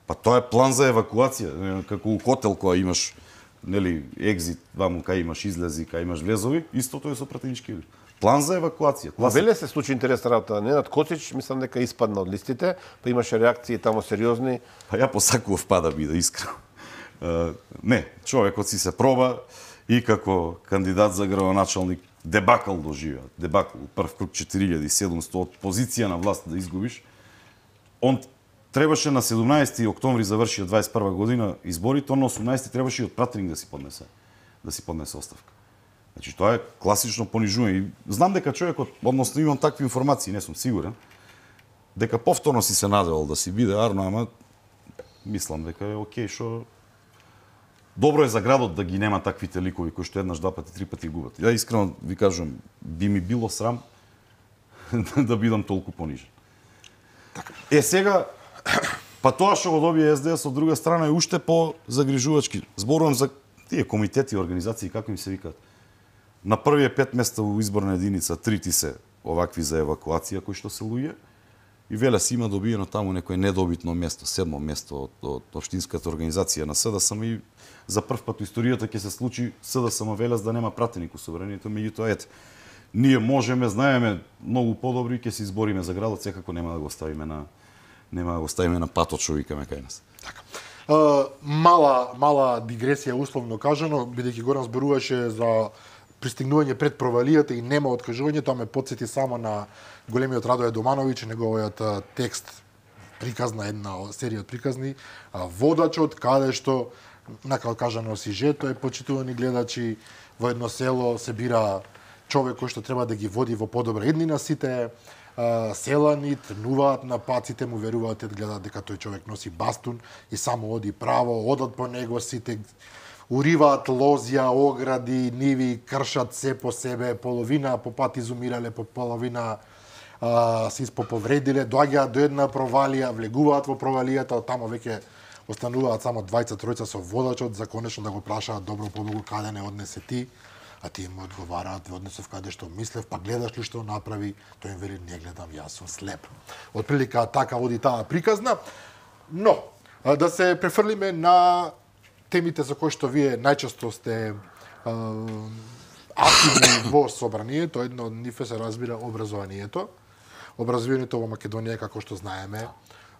Па тоа е план за евакуација, е, како у хотел кога имаш нели екзит, ваму кај имаш излези, кај имаш влезови, истото е со пратенички. План за евакуација. Ма Класика. веле се случи интересна работа. Ненад Коцич, мислам дека испадна од листите, па имаше реакции тамо сериозни. Па ја посакував па да биде искрен. Uh, не, човекот си се проба и како кандидат за градоначалник дебакал доживеа. Дебакал, прв круг четири илјади и седумстотини од позиција на власт да изгубиш. Он требаше на седумнаесети октомври заврши од дваесет и прва година изборите, он на осумнаесети требаше и од пратеник да си поднесе да си поднесе оставка. Значи тоа е класично понижување. И знам дека човекот, односно имам такви информации, не сум сигурен, дека повторно си се надевал да си биде Арно, ама мислам дека е окей што добро е за градот да ги нема таквите ликови кои што еднаш, два пати, три пати губат. Ја искрено ви кажувам, би ми било срам да бидам толку понижен. Е сега, па тоа што го добие Ес Де Ес од друга страна е уште по загрижувачки. Зборувам за тие комитети и организации, како им се викаат. На првие пет места во изборна единица, трити се овакви за евакуација кои што се луѓе, и веле си има добиено таму некој недобитно место, седмо место од, од општинската организација на С Д С М, и за прв пат во историјата ќе се случи С Д С М велес да нема пратеник у собранието, меѓутоа ете, ние можеме, знаеме многу подобри и ќе се избориме за градот, секако нема да го ставиме на нема да го ставиме на патот што викаме кај нас. Така. Uh, мала мала дигресија условно кажано, бидејќи Горан зборуваше за пристигнување пред провалијата и нема откажување, тоа ме потсети само на големиот Радој Домановиќ, неговиот а, текст приказна, една серија од приказни, а, Водачот, каде што, накао кажано сижето е почитувани гледачи, во едно село се бира човек кој што треба да ги води во подобра иднина сите, а, селани трнуваат на паците, му веруваат, гледаат дека тој човек носи бастун и само оди право, одат по него сите, уриваат лозја, огради, ниви, кршат се по себе, половина по пат изумирале, по половина а, се испоповредиле, доаѓаат до една провалија, влегуваат во провалијата, од тамо веќе остануваат само двајца тројца со водачот за конечно да го прашаат добро побогу каде не однесе ти, а тие му одговараат, однесов каде што мислев, па гледаш ли што направи, тој им вели не гледам, јас сум слеп. Отприлика така оди таа приказна, но а, да се префрлиме на темите за кои што вие најчесто сте а, активни во собранието, едно од нив се разбира образованието. Образованието во Македонија, како што знаеме,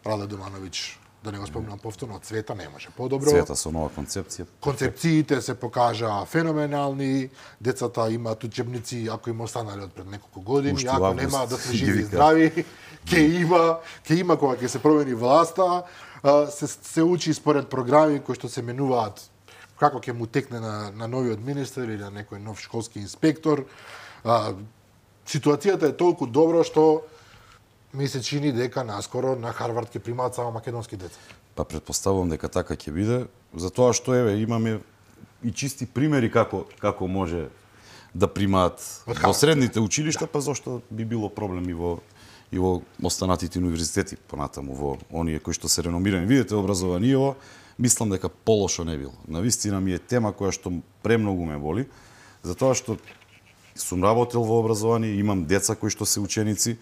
Радој Домановиќ да не го спомнам повторно, Цвета не може подобро. Цвета со нова концепција. Концепциите се покажаа феноменални, децата имаат учебници ако им останале од пред неколку години, Уште ако август, нема да се ги живи и вика. здрави, ќе има, ќе има кога ќе се промени власта, а, се се учи според програми кои што се менуваат како ќе му текне на, на новиот министер или на некој нов школски инспектор. А, ситуацијата е толку добра што ми се чини дека наскоро на Харвард ќе примаат само македонски деца. Па предпоставувам дека така ќе биде, затоа што еве имаме и чисти примери како како може да примаат во средните училишта, па зошто би било проблем и во и во останатите универзитети понатаму во оние кои што се реномирани. Видите образованието, мислам дека полошо не било. Навистина ми е тема која што премногу ме боли, затоа што сум работел во образование, имам деца кои што се ученици,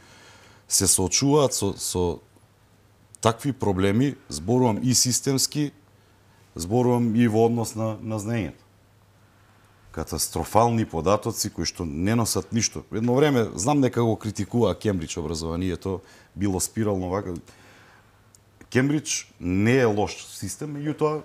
се соочуваат со, со такви проблеми, зборувам и системски, зборувам и во однос на, на знаењето. Катастрофални податоци кои што не носат ништо. Едно време, знам дека го критикува Кембридж образованието, било спирално вака. Кембридж не е лош систем, меѓутоа,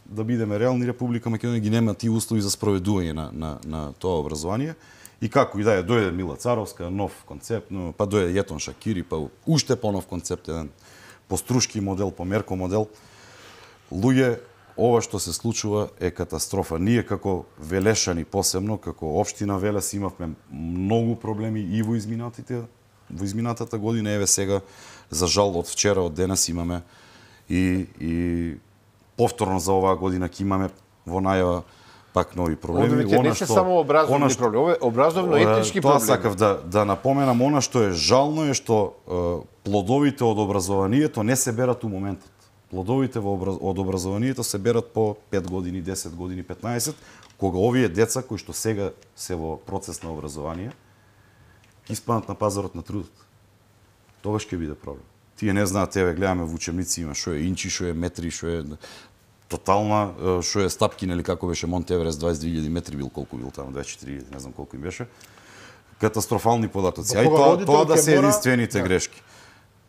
да бидеме реални, Република Македонија ги нема тие услови за спроведување на, на, на тоа образование. И како и да е, дојде Мила Царовска, нов концепт, но, па дојде Јетон Шакири, па уште понов концепт, еден пострушки модел, померко модел. Луѓе, ова што се случува е катастрофа. Ние како Велешани посебно, како општина Велес имавме многу проблеми и во изминатите, во изминатата година, еве сега, за жал од вчера, од денес имаме и, и повторно за оваа година ќе имаме во најава пак нови проблеми. Овде не се само образовни што, проблеми, ове образовно-етнички тоа проблеми. сакав да, да напоменам, она што е жално е што е, плодовите од образованието не се берат у моментот. Плодовите во образ... од образованието се берат по пет години, десет години, петнаесет, кога овие деца кои што сега се во процес на образование, испаднат на пазарот на трудот. Тогаш ќе биде проблем. Тие не знаат, еве гледаме во учебници има што е инчи, што е метри, што е тотална, што е стапки, нели како беше Монт Еверест, дваесет две илјади метри бил, колку бил таму, дваесет и четири илјади, не знам колку им беше. Катастрофални податоци. А и тоа, тоа да се единствените да. грешки.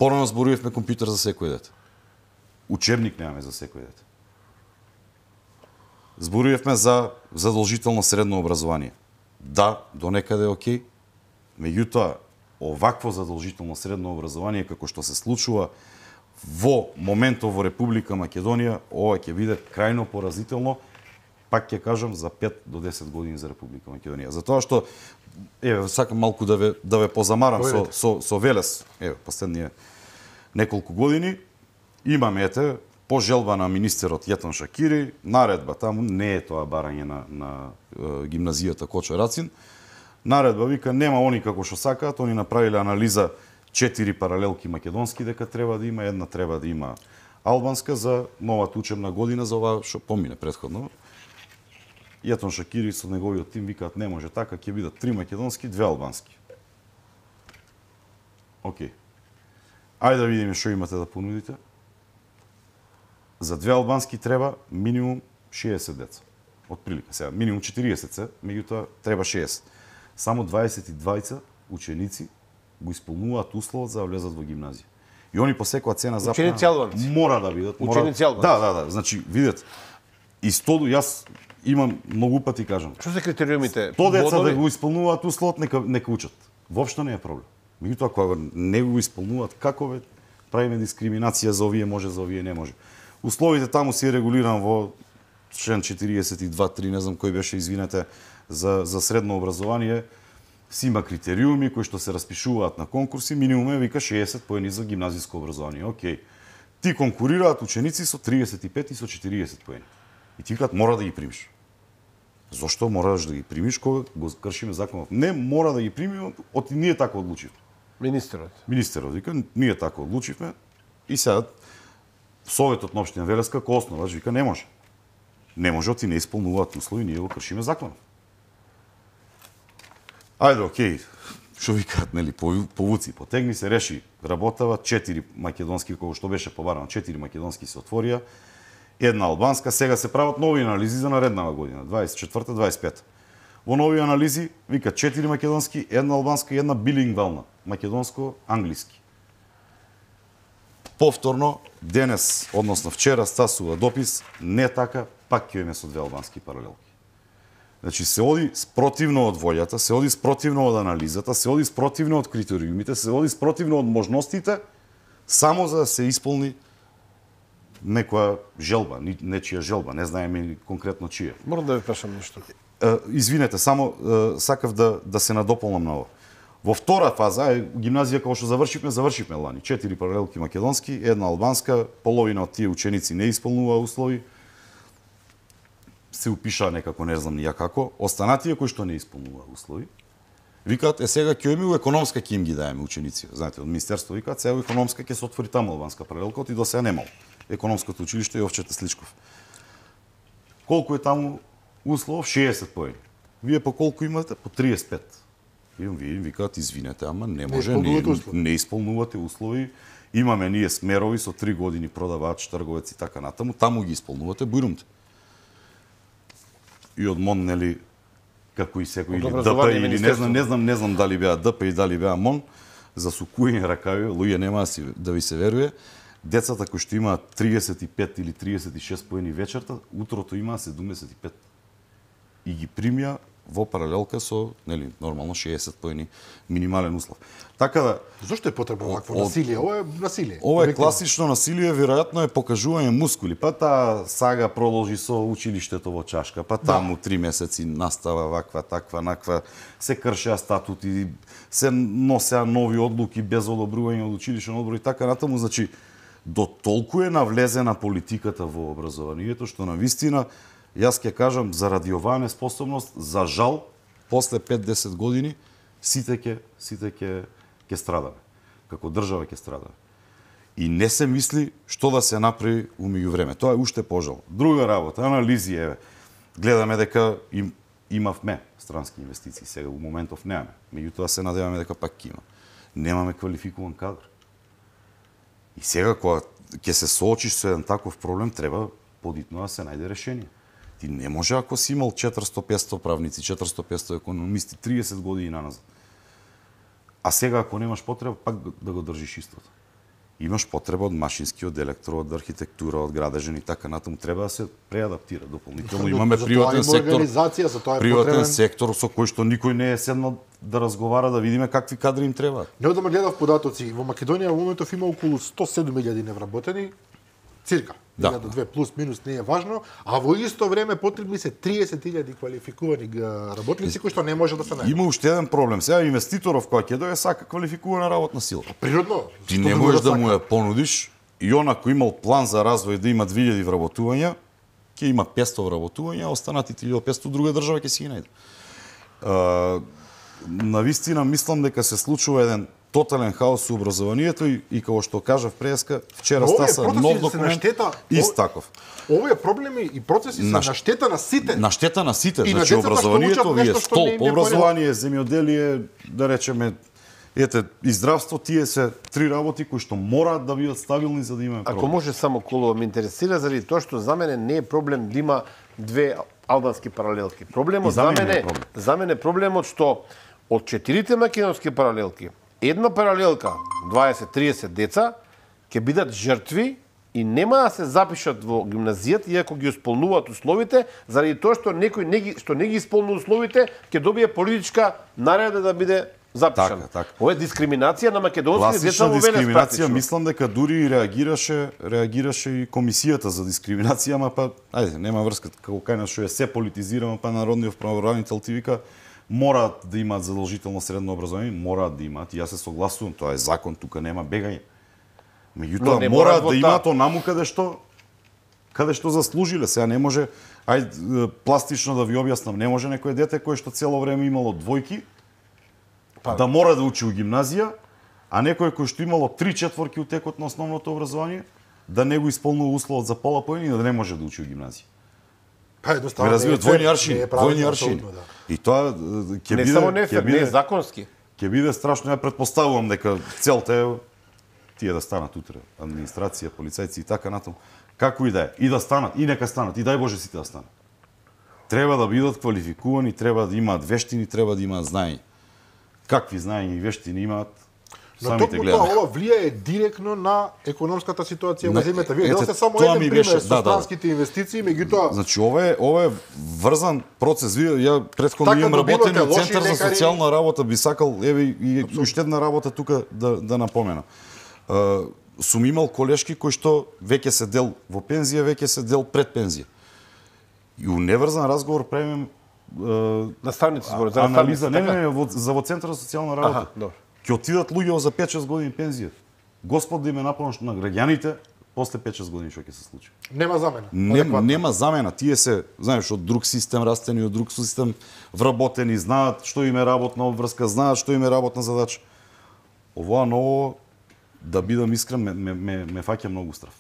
Порано зборувавме компјутер за секој дете. Учебник немаме за секој дете. Зборувавме за задолжително средно образование. Да, до некаде е окей. Меѓутоа, овакво задолжително средно образование како што се случува во моментот во Република Македонија, ова ќе биде крајно поразително, пак ќе кажам, за пет до десет години за Република Македонија. Затоа што, еве, сакам малку да ве, да ве позамарам со, со, со Велес, еве, последние неколку години, имаме, ете, по желба на министерот Јетон Шакири, наредба, таму не е тоа барање на, на е, гимназијата Кочо Рацин, наредба вика, нема они како што сакаат, они направиле анализа четири паралелки македонски дека треба да има, една треба да има албанска за новата учебна година за ова што помине претходно. Јетон Шакири со неговиот тим викаат не може така, ќе бидат три македонски, две албански. Океј. Ајде да видиме што имате да понудите. За две албански треба минимум шеесет деца. Од прилика сега, минимум четириесет се, меѓутоа треба шеесет. Само дваесет и двајца ученици го исполнуваат условот за да влезат во гимназија. И они по секоја цена запна мора да бидат. Ученици албанци. Да, да, да. Значи, видете, и сто, јас имам многу пати кажам. Што се критериумите? сто деца да го исполнуваат условот, нека, нека учат. Воопшто не е проблем. Меѓутоа, кога не го исполнуваат, како ве правиме дискриминација за овие може, за овие не може. Условите таму се регулиран во член четириесет и два три, не знам кој беше, извинете, за, за средно образование, си има критериуми кои што се распишуваат на конкурси, минимум е вика шеесет поени за гимназиско образование. Океј. Ти конкурираат ученици со триесет и пет и со четириесет поени. И ти викаат мора да ги примиш. Зошто мораш да ги примиш кога го кршиме законот? Не мора да ги примиме, од ние така одлучивме. Министерот. Министерот вика, ние така одлучивме и сега Советот на општина Велес како основач вика не може. Не може, оти не исполнуваат услови, ние го кршиме законот. Ајде, окей, што викаат, нели, повуци, потегни се, реши, работава, четири македонски, кога што беше побарано, четири македонски се отворија, една албанска, сега се прават нови анализи за нареднава година, дваесет и четврта дваесет и пета. Во нови анализи, вика, четири македонски, една албанска и една билингвална, македонско-англиски. повторно денес, односно вчера стасува допис, не така, пак ќе имаме со две албански паралелки. Значи се оди спротивно од волјата, се оди спротивно од анализата, се оди спротивно од критериумите, се оди спротивно од можностите, само за да се исполни некоја желба, нечија желба, не знаеме конкретно чија. Морам да ви прашам нешто. Извинете, само сакав да да се надополнам на ова. Во втора фаза, гимназија кога што завршивме, завршивме лани. Четири паралелки македонски, една албанска, половина од тие ученици не исполнуваа услови. Се упишаа некако, не знам нија како. Останатите кои што не исполнуваа услови, викаат, е сега ќе имаме економска ќе им ги даеме ученици. Знаете, од министерство викаат, сега економска ќе се отвори таму албанска паралелка, и до сега немало. Економското училиште Јовчета Сличков. Колку е таму услов? шеесет поени. Вие по колку имате? По триесет и пет. Вие им викаат, извинете, ама не може, не, не, не исполнувате услови. Имаме ние смерови со три години продавач, трговец и така натаму, таму ги исполнувате, бујрумте. И од МОН, нели, како и секој, или ДП, или не знам, не знам, не знам дали беа ДП и дали беа МОН, за сукујни ракави, луѓе нема да ви се веруе, децата кои што имаат триесет и пет или триесет и шест поени вечерта, утрото имаа седумдесет и пет. И ги примија во паралелка со, нели, нормално шеесет поени минимален услов. Така да, зошто е потребно вакво насилие? Ова е насилие. Ова е класично насилие, веројатно е покажување мускули. Па таа сага продолжи со училиштето во чашка, па таму три месеци настава ваква, таква, наква, се кршеа статути, се носеа нови одлуки без одобрување од училишен одбор и така натаму, значи до толку е навлезена политиката во образованието што на вистина јас ќе кажам, заради оваа неспособност, за жал, после пет-десет години, сите ќе сите ќе ќе страдаме. Како држава ќе страдаме. И не се мисли што да се направи у меѓувреме. Тоа е уште пожал. Друга работа, анализи, еве. Гледаме дека им, имавме странски инвестиции, сега во моментов немаме. Меѓутоа се надеваме дека пак ќе има. Немаме квалификуван кадар. И сега кога ќе се соочиш со еден таков проблем, треба подитно да се најде решение. Ти не може ако си имал четиристотини-петстотини правници, четиристотини-петстотини економисти, триесет години наназад. А сега ако немаш потреба, пак да го држиш истото. Имаш потреба од машински, од електро, од архитектура, од градежен и така натаму, треба да се преадаптира дополнително. Имаме приватен сектор, приватен сектор со кој што никој не е седнал да разговара, да видиме какви кадри им требаат. Неодамна гледав податоци, во Македонија во моментов има околу сто и седум илјади невработени, цирка. Да. илјада две плюс минус не е важно, а во исто време потребни се триесет илјади квалификувани работници кои што не може да се најдат. Има уште еден проблем. Сега инвеститоров кој ќе дојде сака квалификувана работна сила. Природно. Ти не можеш да му ја понудиш и он ако имал план за развој да има две илјади вработувања, ќе има петстотини вработувања, а останатите илјада и петстотини друга држава ќе си ги најде. Навистина мислам дека се случува еден тотален хаос со образованието и, и како што кажав преска, вчера стаса нов документ ист таков. Овие проблеми и процеси се на, на штета на сите. На штета на сите, и значи на образованието, вие столб, образование, земјоделие, да речеме, ете, и здравство, тие се три работи кои што мораат да бидат стабилни за да имаме проблем. Ако може само Колова ме интересира заради тоа што за мене не е проблем да има две албански паралелки. Проблемот за мене, за мене проблемот што од четирите македонски паралелки една паралелка, дваесет-триесет деца, ќе бидат жртви и нема да се запишат во гимназијата, иако ги исполнуваат условите, заради тоа што некој не ги, што не ги исполнува условите, ќе добие политичка нареда да биде запишан. Така, така. Ова е дискриминација на македонски деца во Велес практично. Мислам дека дури и реагираше, реагираше и комисијата за дискриминација, ама па, ајде, нема врска, како кај нас што е се политизирано, па народниот правобранител ти вика, мораат да имаат задолжително средно образование, мораат да имаат, и јас се согласувам, тоа е закон, тука нема бегање. Меѓутоа мораат да имаат онаму каде што каде што заслужиле. Сега не може, ајде пластично да ви објаснам, не може некој дете кој што цело време имало двојки па, да мора да учи у гимназија, а некој кој што имало три четворки у текот на основното образование да не го исполнува условот за пола поени и да не може да учи у гимназија. Па едноставно не развива двојни аршини, двојни аршини. Да. И тоа ќе биде не само нефер, не е законски. Ќе биде страшно, ја претпоставувам дека целта е тие да станат утре, администрација, полицајци и така натаму. Како и да е, и да станат, и нека станат, и дај Боже сите да станат. Треба да бидат квалификувани, треба да имаат вештини, треба да имаат знаење. Какви знаења и вештини имаат? Но самите токму гледаме. тоа ова влијае директно на економската ситуација во Не, земјата. Вие ете, дадовте само тоа еден ми пример беше- со да, да, да. странските инвестиции, меѓутоа Значи ова е ова е врзан процес. Вие ја претходно Така имам добивате работено во лоши Центар за лекари. социјална работа, би сакал еве и уште една работа тука да да напоменам. Uh, сум имал колешки кои што веќе се дел во пензија, веќе се дел пред пензија. И у неврзан разговор правиме uh, Наставници зборат за анализа, не, наставници, не, така? не, во, за во Центар за социјална работа. Аха, добро. Ќе отидат луѓе за пет-шест години пензија. Господ да им е напомош на граѓаните после пет-шест години што ќе се случи. нема замена. Не, Адекватно. нема замена. Тие се, знаеш, од друг систем растени, од друг систем вработени, знаат што им е работна обврска, знаат што им е работна задача. Ова ново, да бидам искрен, ме, ме, ме, ме фаќа многу страф.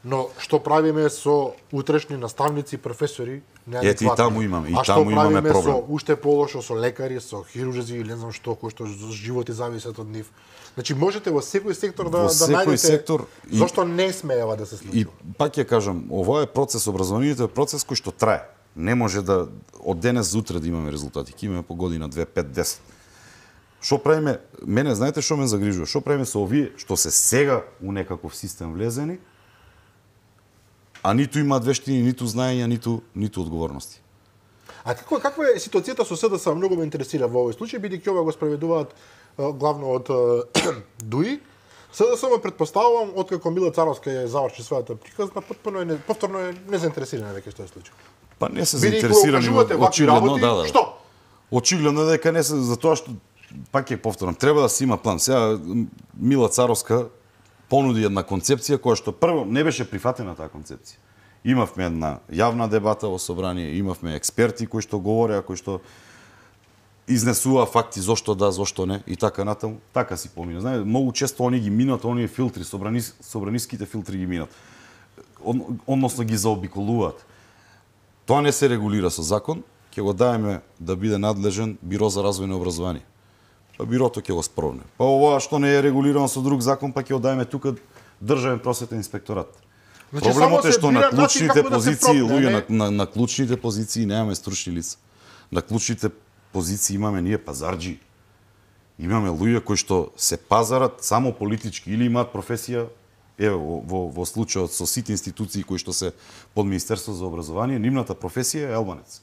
Но што правиме со утрешни наставници, професори, неадекватни? Ете, и таму имаме, и а што таму имаме правиме проблем. со уште полошо со лекари, со хирурзи или не знам што, кои што животи зависат од нив? Значи можете во секој сектор да Во да секој најдете сектор и- зошто не смеева да се случи. И пак ќе кажам, ова е процес, образованието е процес кој што трае. Не може да од денес за утре да имаме резултати. Ќе имаме по година две, пет, десет. Што правиме? Мене знаете што ме загрижува? Што правиме со овие што се сега у некаков систем влезени, а ниту имаат вештини, ниту знаења, ниту ниту одговорности. А како каква е ситуацијата со СДС? Многу ме интересира во овој случај, бидејќи ова го спроведуваат е, главно од е, ДУИ. СДС ме претпоставувам откако Мила Царовска ја заврши својата приказна, потpuno е не- повторно е незаинтересирана веќе што е случај. Па не се Бидејќи заинтересирани го кажувате вакви очигледно, работи, да, да. што? Очигледно е дека не се за тоа што пак ќе повторам, треба да се има план. Сега Мила Царовска понуди една концепција која што прво не беше прифатена таа концепција. Имавме една јавна дебата во собрание, имавме експерти кои што говореа, кои што изнесува факти зошто да, зошто не и така натаму. Така си помина. Знаете, многу често они ги минат, оние филтри, собранис, собраниските филтри ги минат. Од, односно ги заобиколуваат. Тоа не се регулира со закон, ќе го даеме да биде надлежен Биро за развој на образование. Па бирото ќе го спровне. Па ова што не е регулирано со друг закон, па ќе го даеме тука Државен просветен инспекторат. Значи, Проблемот само е се што бира на начин клучните како да се позиции, пропне, луѓе не? на, на, на клучните позиции немаме стручни лица. На клучните позиции имаме ние пазарџи. Имаме луѓе кои што се пазарат само политички или имаат професија, еве во, во, во случајот со сите институции кои што се под Министерство за образование, нивната професија е албанец.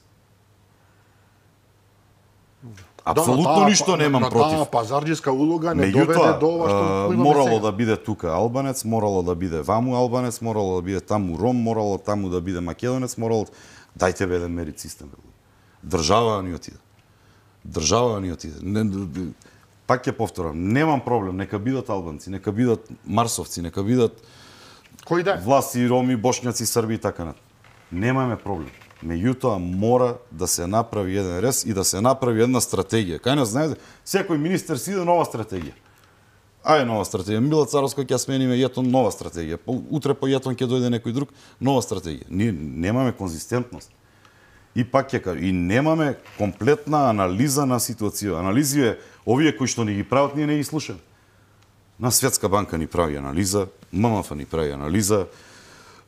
Апсолутно Да, но таа- ништо немам но против. Таа пазарџиска улога не Меѓутоа, доведе до ова што а, го имаме морало сега. да биде тука албанец, морало да биде ваму албанец, морало да биде таму ром, морало таму да биде македонец, морало дајте бе еден мерит систем. Бе. Држава ни отиде. Држава ни отиде. Не, пак ќе повторам, немам проблем, нека бидат албанци, нека бидат марсовци, нека бидат Кој да? власти, роми, бошњаци, срби и така натаму. Немаме проблем. Меѓутоа мора да се направи еден рез и да се направи една стратегија. Кај нас знаете, секој министер си иде нова стратегија. Ај нова стратегија. Мила Царовска ќе смениме јетон нова стратегија. Утре по јетон ќе дојде некој друг нова стратегија. Ние немаме конзистентност. И пак ќе кажам, и немаме комплетна анализа на ситуација. Анализија овие кои што ни ги прават, ние не ги слушаме. На Светска банка ни прави анализа, ММФ ни прави анализа,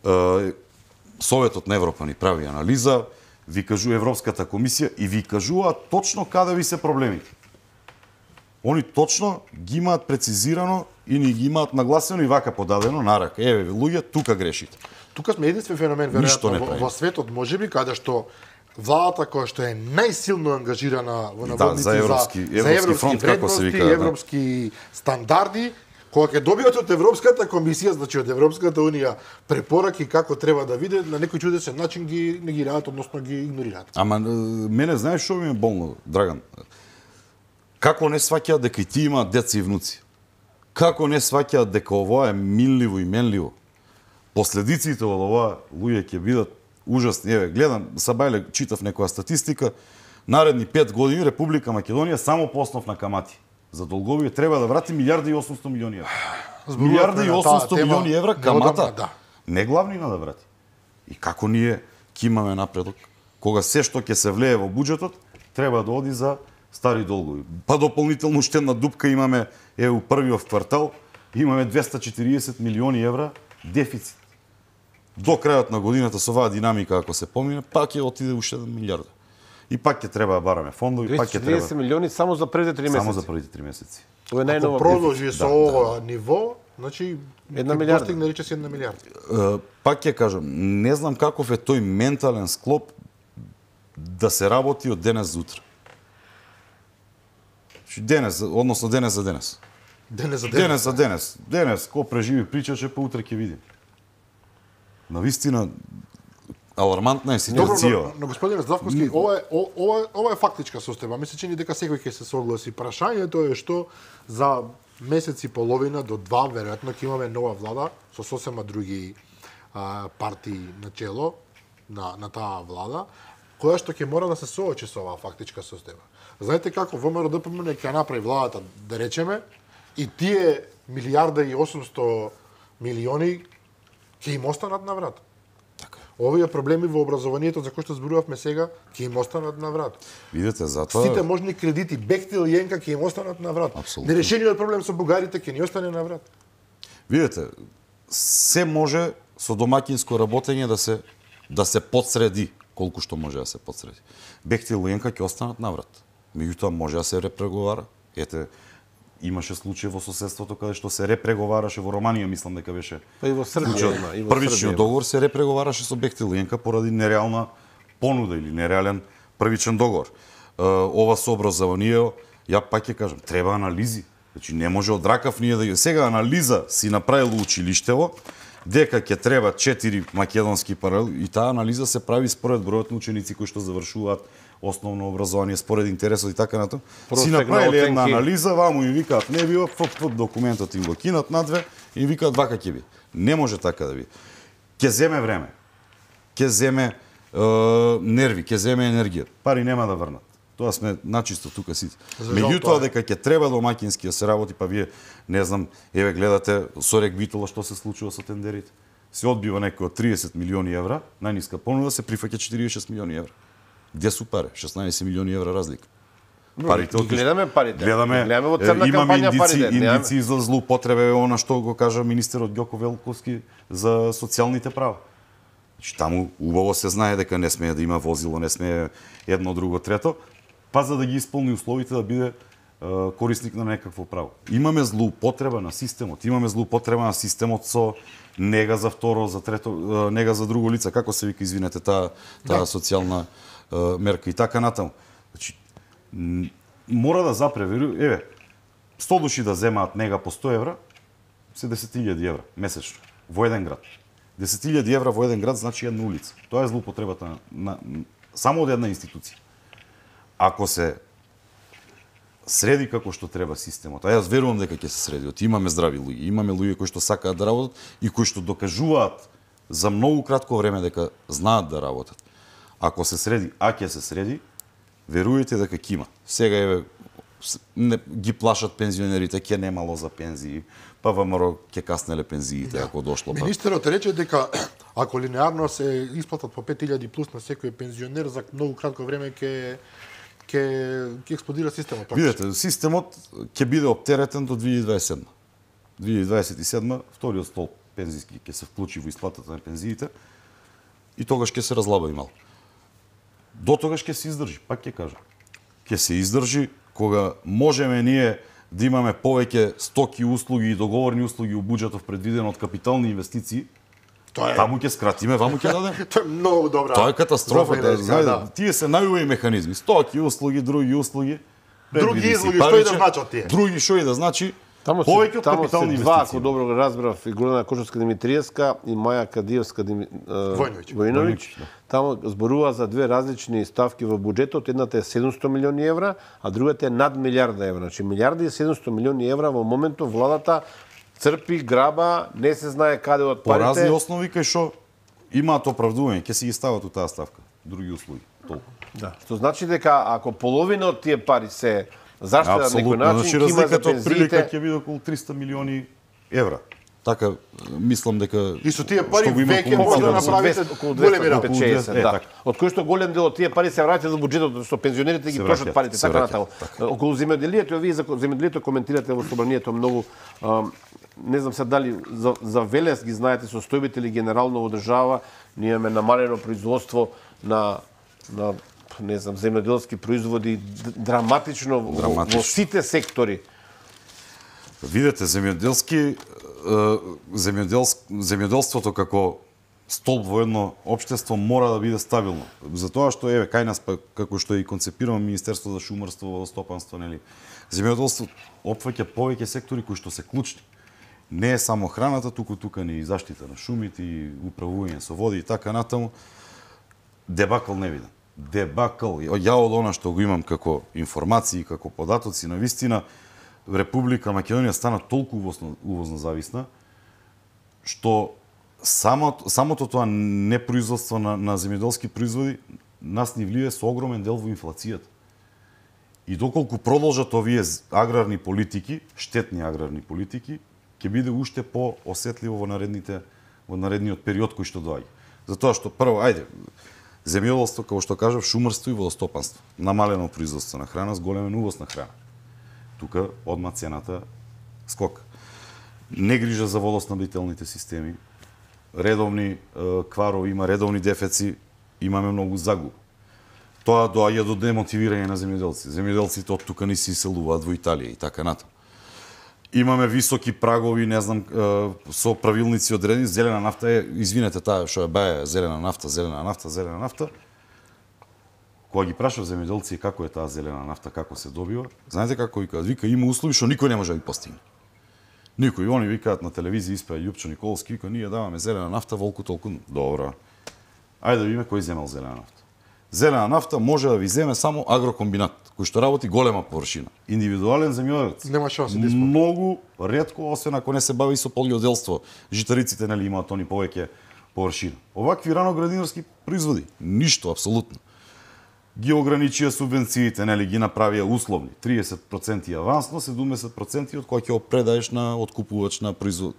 е, Советот на Европа ни прави анализа, ви кажува Европската комисија и ви кажува точно каде ви се проблемите. Они точно ги имаат прецизирано и ни ги имаат нагласено и вака подадено на рака. Еве, луѓе, тука грешите. Тука сме единствен феномен Ништо не веројатно во, правиме. во светот, можеби каде што владата која што е најсилно ангажирана во наводници за европски- за, европски европски фронт, како се вредности, вика, да. европски стандарди, кога ќе добијат од Европската комисија, значи од Европската унија препораки како треба да виде, на некој чудесен начин ги негираат, односно ги игнорираат. Ама е, мене знаеш што ми е болно, Драган? Како не сваќаат дека и ти имаат деца и внуци? Како не сваќаат дека ова е минливо и менливо? Последиците од ова луѓе ќе бидат ужасни. Еве, гледам, Сабајле читав некоја статистика, наредни пет години Република Македонија само по основ на камати за долгови треба да врати милијарда и осумстотини милиони евра. Милијарда и на таа осумстотини тема милиони евра неодамна, камата. да. Не главнина да врати. И како ние ќе имаме напредок, кога се што ќе се влее во буџетот, треба да оди за стари долгови. Па дополнително уште една дупка имаме, е у првиот квартал, имаме двеста и четириесет милиони евра дефицит. До крајот на годината со оваа динамика, ако се помине, пак ќе отиде уште една милијарда. И пак ќе треба да бараме фондови, пак ќе двеста и треба четириесет милиони само за првите три месеци. само за првите три месеци. Ова е Ако најнова продолжи дефицит. со Да, ова ниво, значи Една ќе милиарда. достигне рече си една милиарда. Е, пак ќе кажам, не знам каков е тој ментален склоп да се работи од денес за утре. Значи денес, односно денес за денес. Денес за денес. Денес за денес. Денес, ко преживи причаше, па утре ќе видим. Навистина, алармантна е Добро, ситуација. но, но господине Здравковски, ова е о- ова е- ова е фактичка состојба. Ми се чини дека секој ќе се согласи. Прашањето е што за месец и половина до два веројатно ќе имаме нова влада со сосема други а, партии на чело на на таа влада, која што ќе мора да се соочи со оваа фактичка состојба. Знаете како ВМРО-ДПМН ќе направи владата, да речеме, и тие милиарда и осумсто милиони ќе им останат на врат. Овие проблеми во образованието за кои што зборувавме сега ќе им останат на врат. Видете, затоа Сите можни кредити, Бехтел и Јенка ќе им останат на врат. Апсолутно. Нерешениот проблем со бугарите ќе ни остане на врат. Видете, се може со домаќинско работење да се да се подсреди колку што може да се подсреди. Бехтел и Ленка ќе останат наврат. Меѓутоа може да се репреговара. Ете, имаше случај во соседството каде што се репреговараше во Романија, мислам дека беше. Па и во Србија случајот. има, и во Србија Првичниот има. договор се репреговараше со Бехтел и Ленка поради нереална понуда или нереален првичен договор. Е, ова со образованието, ја пак ќе кажам, треба анализи. Значи не може од ракав ние да ја сега анализа си направило училиштево дека ќе треба четири македонски паралели и таа анализа се прави според бројот на ученици кои што завршуваат основно образование, според интересот и така натаму. Си Просек на направиле една оценки. анализа, ваму и викаат не бива, фп документот им го кинат надве и викаат вака ќе би. Не може така да би. Ќе земе време. Ќе земе е, нерви, ќе земе енергија. Пари нема да врнат. Тоа сме начисто тука сите. За жал, Меѓутоа тоа е. дека ќе треба домаќински да се работи, па вие не знам, еве гледате со Рек Битола што се случува со тендерите. Се одбива некој од триесет милиони евра, најниска понуда се прифаќа четириесет и шест милиони евра. Где су пари? шеснаесет милиони евра разлика. Парите ги отишли. гледаме парите. Гледаме, Гледаме во е, црна имаме кампања индици, парите, немаме. индици за злоупотреба, она што го кажа министерот Ѓоко Велковски за социјалните права. Значи, таму убаво се знае дека не смее да има возило, не смее едно, друго, трето, па за да ги исполни условите да биде е, корисник на некакво право. Имаме злоупотреба на системот, имаме злоупотреба на системот со нега за второ, за трето, е, нега за друго лице, како се вика, извинете, таа таа Да. социјална е, мерка и така натаму. Значи, м, мора да запреверу, еве, сто души да земаат нега по сто евра, се десет илјади евра месечно во еден град. десет илјади евра во еден град значи една улица. Тоа е злоупотребата на, на само од една институција. Ако се среди како што треба системот, а јас верувам дека ќе се среди, од имаме здрави луѓе, имаме луѓе кои што сакаат да работат и кои што докажуваат за многу кратко време дека знаат да работат. Ако се среди, а ќе се среди, верујте дека ќе има. Сега еве с- не ги плашат пензионерите, ќе немало за пензии, па ВМРО ќе каснеле пензиите ако дошло па. Министерот рече дека ако линеарно се исплатат по пет илјади плюс на секој пензионер, за многу кратко време ќе ќе ќе експлодира системот. Видете, системот ќе биде оптеретен до две илјади дваесет и седма. две илјади дваесет и седма вториот столб пензиски ќе се вклучи во исплатата на пензиите и тогаш ќе се разлаба и мал. До тогаш ќе се издржи, пак ќе кажам. Ќе се издржи кога можеме ние да имаме повеќе стоки, услуги и договорни услуги у буџетов предвидено од капитални инвестиции. Тоа е Таму ќе скратиме, ваму ќе дадеме. тоа е многу добра. Тоа е катастрофа, да, за знаете, да. тие се најубави механизми, стоки, услуги, други услуги. Други предвиди се услуги, што и да париче, значат тие? Други што и да значи, Таму се, повеќе од таму капитални се два, инвестиции. ако добро го разбрав, и Гордана Кошовска Димитриевска и Маја Кадиевска Дими, е, Војновиќ. Војновиќ. Војновиќ, да. Таму зборува за две различни ставки во буџетот. Едната е седумсто милиони евра, а другата е над милиарда евра. Значи милиарда и седумсто милиони евра во моментот владата црпи, граба, не се знае каде од По разни парите. основи кај што имаат оправдување, ќе си ги стават у таа ставка. Други услуги. Толку. Да. Што значи дека ако половина од тие пари се заштедат на некој Апсолутно. начин, Значи ќе има за разликата од прилика пензиите. ќе биде околу триста милиони евра. Така мислам дека И со тие пари што го има веќе може да комуницирано Околу со- направите двесте- околу големи работи. двесте петдесет, Е, да. така. Од кои што голем дел од тие пари се враќаат за буџетот, што пензионерите ги Се трошат враќаат, парите, се така враќаат, натаму. Околу земјоделието, вие за земјоделието коментирате во собранието многу, а, не знам се дали за, за Велес ги знаете состојбите или генерално во држава, ние имаме намалено производство на на не знам земјоделски производи д- драматично, во- Драматично. во сите сектори. Видете, земјоделски земјоделск земјоделството како столб во едно општество мора да биде стабилно. Затоа што еве кај нас па како што е и концепирано Министерство за шумарство, водостопанство, нели. Земјоделството опфаќа повеќе сектори кои што се клучни. Не е само храната, туку тука ни и заштита на шумите, и управување со води и така натаму. Дебакл не видам. Дебакл. Ја од она што го имам како информации, како податоци, на вистина Република Македонија стана толку увозно, увозно зависна што Самото, самото тоа непроизводство на, на земјоделски производи нас ни влие со огромен дел во инфлацијата. И доколку продолжат овие аграрни политики, штетни аграрни политики, ќе биде уште по-осетливо во наредните во наредниот период кој што доаѓа. Затоа што прво, ајде, земјоделство, како што кажав, шумарство и водостопанство, намалено производство на храна, зголемен увоз на храна. Тука одма цената скок. Не грижа за водоснабдителните системи, редовни е, кварови, има редовни дефеци, имаме многу загуба. Тоа доаѓа до демотивирање на земјоделци. Земјоделците од тука не се иселуваат во Италија и така натаму. Имаме високи прагови, не знам, е, со правилници одредени, зелена нафта е, извинете, таа што е баја зелена нафта, зелена нафта, зелена нафта. Кога ги прашав земјоделци како е таа зелена нафта, како се добива, знаете како викаат? Вика, има услови што никој не може да ги постигне. Никој, они викаат на телевизија, испеа Јупчо Николски, вика, ние даваме зелена нафта, волку толку. Добро. Ајде да видиме кој земел зелена нафта. Зелена нафта може да ви земе само агрокомбинат, кој што работи голема површина. Индивидуален земјоделец. Нема шанса да исполни. Многу ретко, освен ако не се бави со полјоделство. Житариците нели имаат они повеќе површина. Овакви раноградинарски производи, ништо апсолутно. Ги ограничија субвенциите, нели ги направија условни, триесет проценти авансно, седумдесет проценти од кои ќе го предаеш на откупувач, на производ,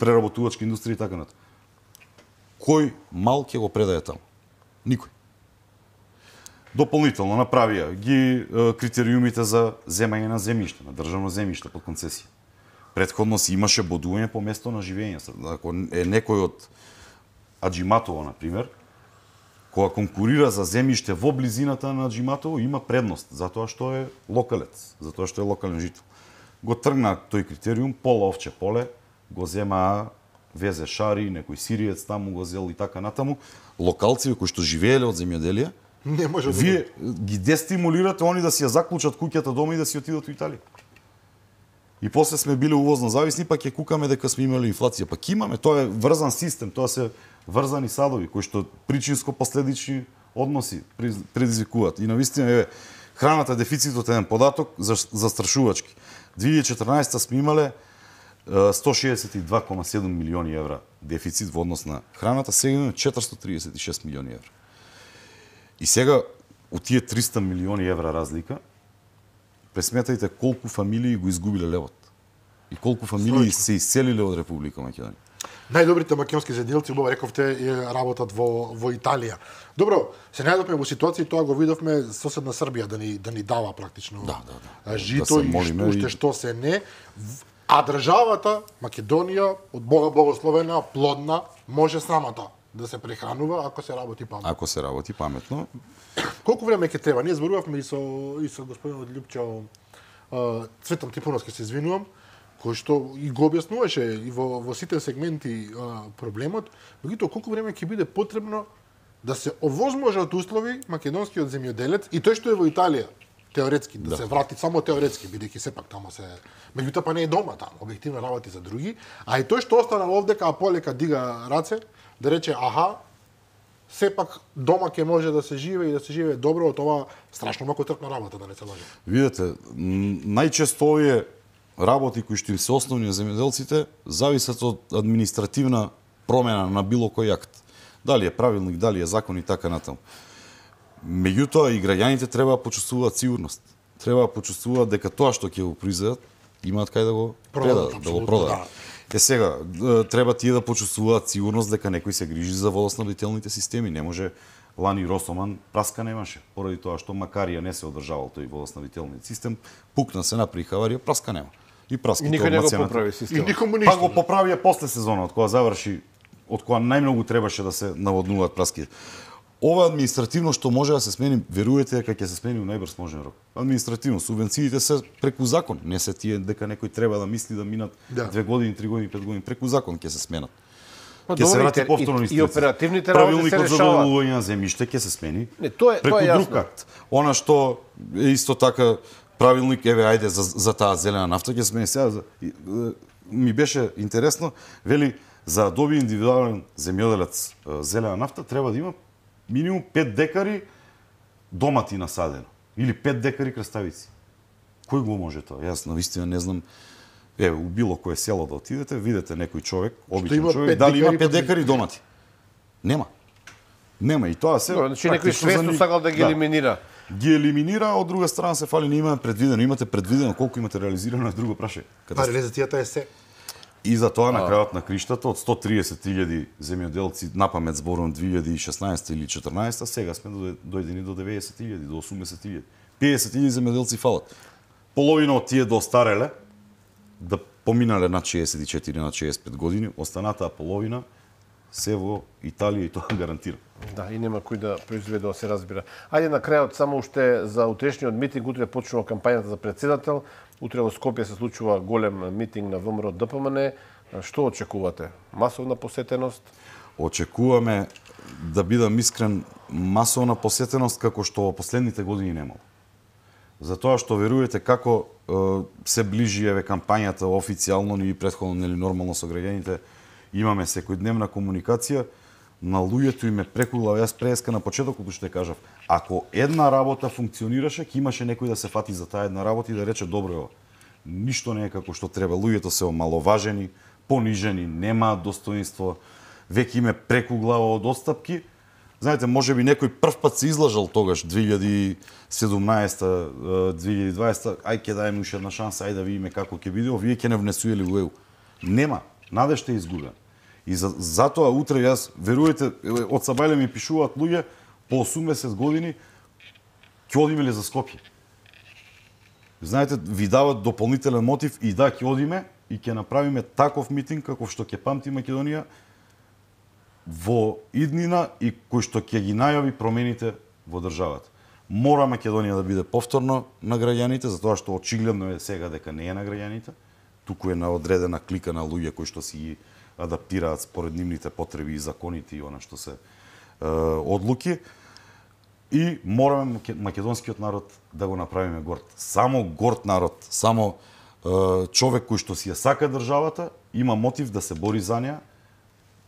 преработувачка индустрија и така натаму. Кој мал ќе го предае таму? Никој. Дополнително направија ги е, критериумите за земање на земјиште, на државно земјиште под концесија. Претходно си имаше бодување по место на живење. Ако е некој од Аџиматово, на пример, кога конкурира за земјиште во близината на Аџиматово, има предност, затоа што е локалец, затоа што е локален жител. Го тргна тој критериум, пола овче поле, го зема везе шари, некој сириец таму го зел и така натаму. Локалци кои што живееле од земјоделие, не може да вие ги дестимулирате они да си ја заклучат куќата дома и да си отидат во Италија. И после сме биле увозно зависни, па ќе кукаме дека сме имали инфлација. Па ќе имаме, тоа е врзан систем, тоа се врзани садови кои што причинско-последични односи предизвикуваат. И навистина е храната дефицитот е еден податок застрашувачки. две илјади и четрнаесетта сме имале сто шеесет и два кома седум милиони евра дефицит во однос на храната, сега имаме четиристотини триесет и шест милиони евра. И сега од тие триста милиони евра разлика, пресметајте колку фамилии го изгубиле левот и колку фамилии се иселиле од Република Македонија. Најдобрите македонски земјоделци, убаво рековте, работат во во Италија. Добро, се најдовме во ситуација, тоа го видовме соседна Србија да ни да ни дава практично да, да, да. жито да и што, уште и... што се не. А државата Македонија од Бога благословена, плодна, може самата да се прехранува ако се работи паметно. Ако се работи паметно. Колку време ќе треба? Ние зборувавме и со и со господинот Љупчо Цветан Трифуновски, се извинувам, кој што и го објаснуваше и во во сите сегменти а, проблемот, меѓутоа колку време ќе биде потребно да се овозможат услови македонскиот земјоделец и тој што е во Италија теоретски да, да се врати само теоретски, бидејќи сепак таму се меѓутоа па не е дома таму, објективно работи за други, а и тој што останал овдека, а полека дига раце, да рече аха, сепак дома ќе може да се живее и да се живее добро од ова страшно макотрпна работа, да не се лажем. Видете, најчесто овие работи кои што им се основни на земјоделците зависат од административна промена на било кој акт. Дали е правилник, дали е закон и така натаму. Меѓутоа и граѓаните треба да почувствуваат сигурност. Треба да почувствуваат дека тоа што ќе го произведат имаат кај да го предадат, да го продадат. Да. Е сега, треба тие да почувствуваат сигурност дека некој се грижи за водоснабдителните системи. Не може лани Росоман праска немаше, поради тоа што макарија не се одржавал тој водоснабдителниот систем, пукна се направи хаварија, праска нема. И праските никој не го поправи системот. И никому ништо. Па го поправија после сезонот, кога заврши, од кога најмногу требаше да се наводнуваат праските. ова административно што може да се смени, веруете дека ќе се смени во најбрз можен рок. Административно субвенциите се преку закон, не се тие дека некој треба да мисли да минат Да. две години, три години, пет години, преку закон ќе се сменат. Па Ќе се добре, врати и- повторно и- и оперативните работи се Правилникот за решаваат. доделување на земјиште ќе се смени. Не, тоа е- преку тоа е друг јасно. акт. Она што е исто така правилник, еве ајде за за таа зелена нафта ќе се смени сега. за- и, е, Ми беше интересно, вели за да доби индивидуален земјоделец е, зелена нафта треба да има минимум пет декари домати насадено или пет декари краставици. Кој го може тоа? Јас навистина не знам. Е, у било кое село да отидете, видите некој човек, обичен има човек, пет дали има декари пет под- декари домати? Нема. Нема и тоа се. Добре, значи некој практично свесно за ни- сакал да ги елиминира. Ги елиминира, а од друга страна се фали не имаме предвидено, имате предвидено колку имате реализирано е друго праше. Па реализацијата е се. И за тоа на крајот на криштата од сто и триесет илјади земјоделци на памет зборувам две илјади и шеснаесета или четрнаесета, сега сме до- дојдени до деветдесет илјади, до осумдесет илјади. педесет илјади земјоделци фалат. Половина од тие достареле да поминале на шеесет и четири на шеесет и пет години, останатаа половина се во Италија и тоа гарантира. Да, и нема кој да произведе, да се разбира. Ајде на крајот само уште за утрешниот митинг, утре почнува кампањата за председател, утре во Скопје се случува голем митинг на ВМРО Д П М Н. Што очекувате? Масовна посетеност? Очекуваме, да бидам искрен, масовна посетеност како што во последните години немало. Затоа што верувате како е, се ближи еве кампањата официјално и претходно нели нормално со граѓаните, имаме секојдневна комуникација, на луѓето им е преку глава. Јас преска на почетокот што кажав, ако една работа функционираше, ќе имаше некој да се фати за таа една работа и да рече добро е ова. Ништо не е како што треба. Луѓето се омаловажени, понижени, немаат достоинство, веќе им е преку глава од отстапки. Знаете, може би некој прв пат се излажал тогаш две илјади и седумнаесета, две илјади и дваесета, ај ќе даеме уште една шанса, ај да видиме како ќе биде, овие ќе не внесуеле во ЕУ. Нема, надежта е изгубена. И за, затоа утре јас, верувате, од Сабајле ми пишуваат луѓе по осумдесет години, ќе одиме ли за Скопје? Знаете, ви дават дополнителен мотив и да, ќе одиме и ќе направиме таков митинг како што ќе памти Македонија во иднина и кој што ќе ги најави промените во државата. Мора Македонија да биде повторно на граѓаните, затоа што очигледно е сега дека не е на граѓаните, туку е на одредена клика на луѓе кои што си ги адаптираат според нивните потреби и законите и она што се е, одлуки. И мораме македонскиот народ да го направиме горд. Само горд народ, само е, човек кој што си ја сака државата, има мотив да се бори за неа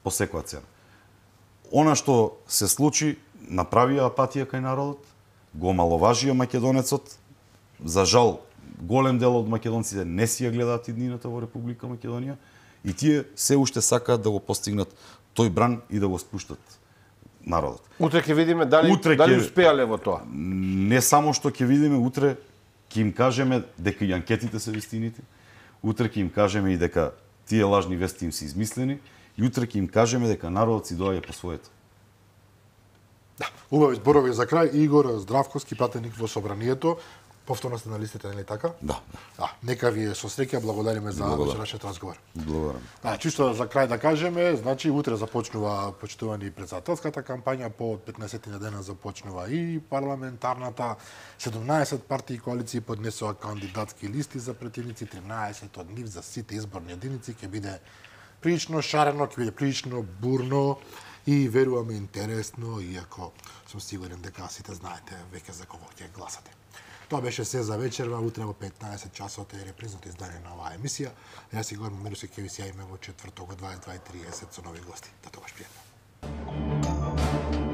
по секоја цена. Она што се случи, направија апатија кај народот, го маловажија македонецот. За жал, голем дел од македонците не си ја гледаат иднината во Република Македонија и тие се уште сакаат да го постигнат тој бран и да го спуштат народот. Утре ќе видиме дали Утре дали ќе- успеале во тоа. Не само што ќе видиме, утре ќе им кажеме дека и анкетите се вистините, утре ќе им кажеме и дека тие лажни вести им се измислени, и утре ќе им кажеме дека народот си доаѓа по своето. Убави зборови за крај. Игор Здравковски, пратеник во Собранието. Повторно сте на листите, нели така? Да. А, нека ви е со среќа, благодариме за Благодарам. вечерашниот разговор. Благодарам. А, чисто за крај да кажеме, значи утре започнува почитувани председателската кампања, по петнаесет на дена започнува и парламентарната. седумнаесет партии и коалиции поднесоа кандидатски листи за претивници, тринаесет од нив за сите изборни единици ќе биде прилично шарено, ќе биде прилично бурно и веруваме интересно, иако сум сигурен дека сите знаете веќе за кого ќе гласате. Тоа беше се за вечерва, утре во петнаесет часот е репризното издание на оваа емисија. Јас и Горан Меруси ќе ви се јавиме во четврток во дваесет и два и тридесет со нови гости. До тогаш пријатно.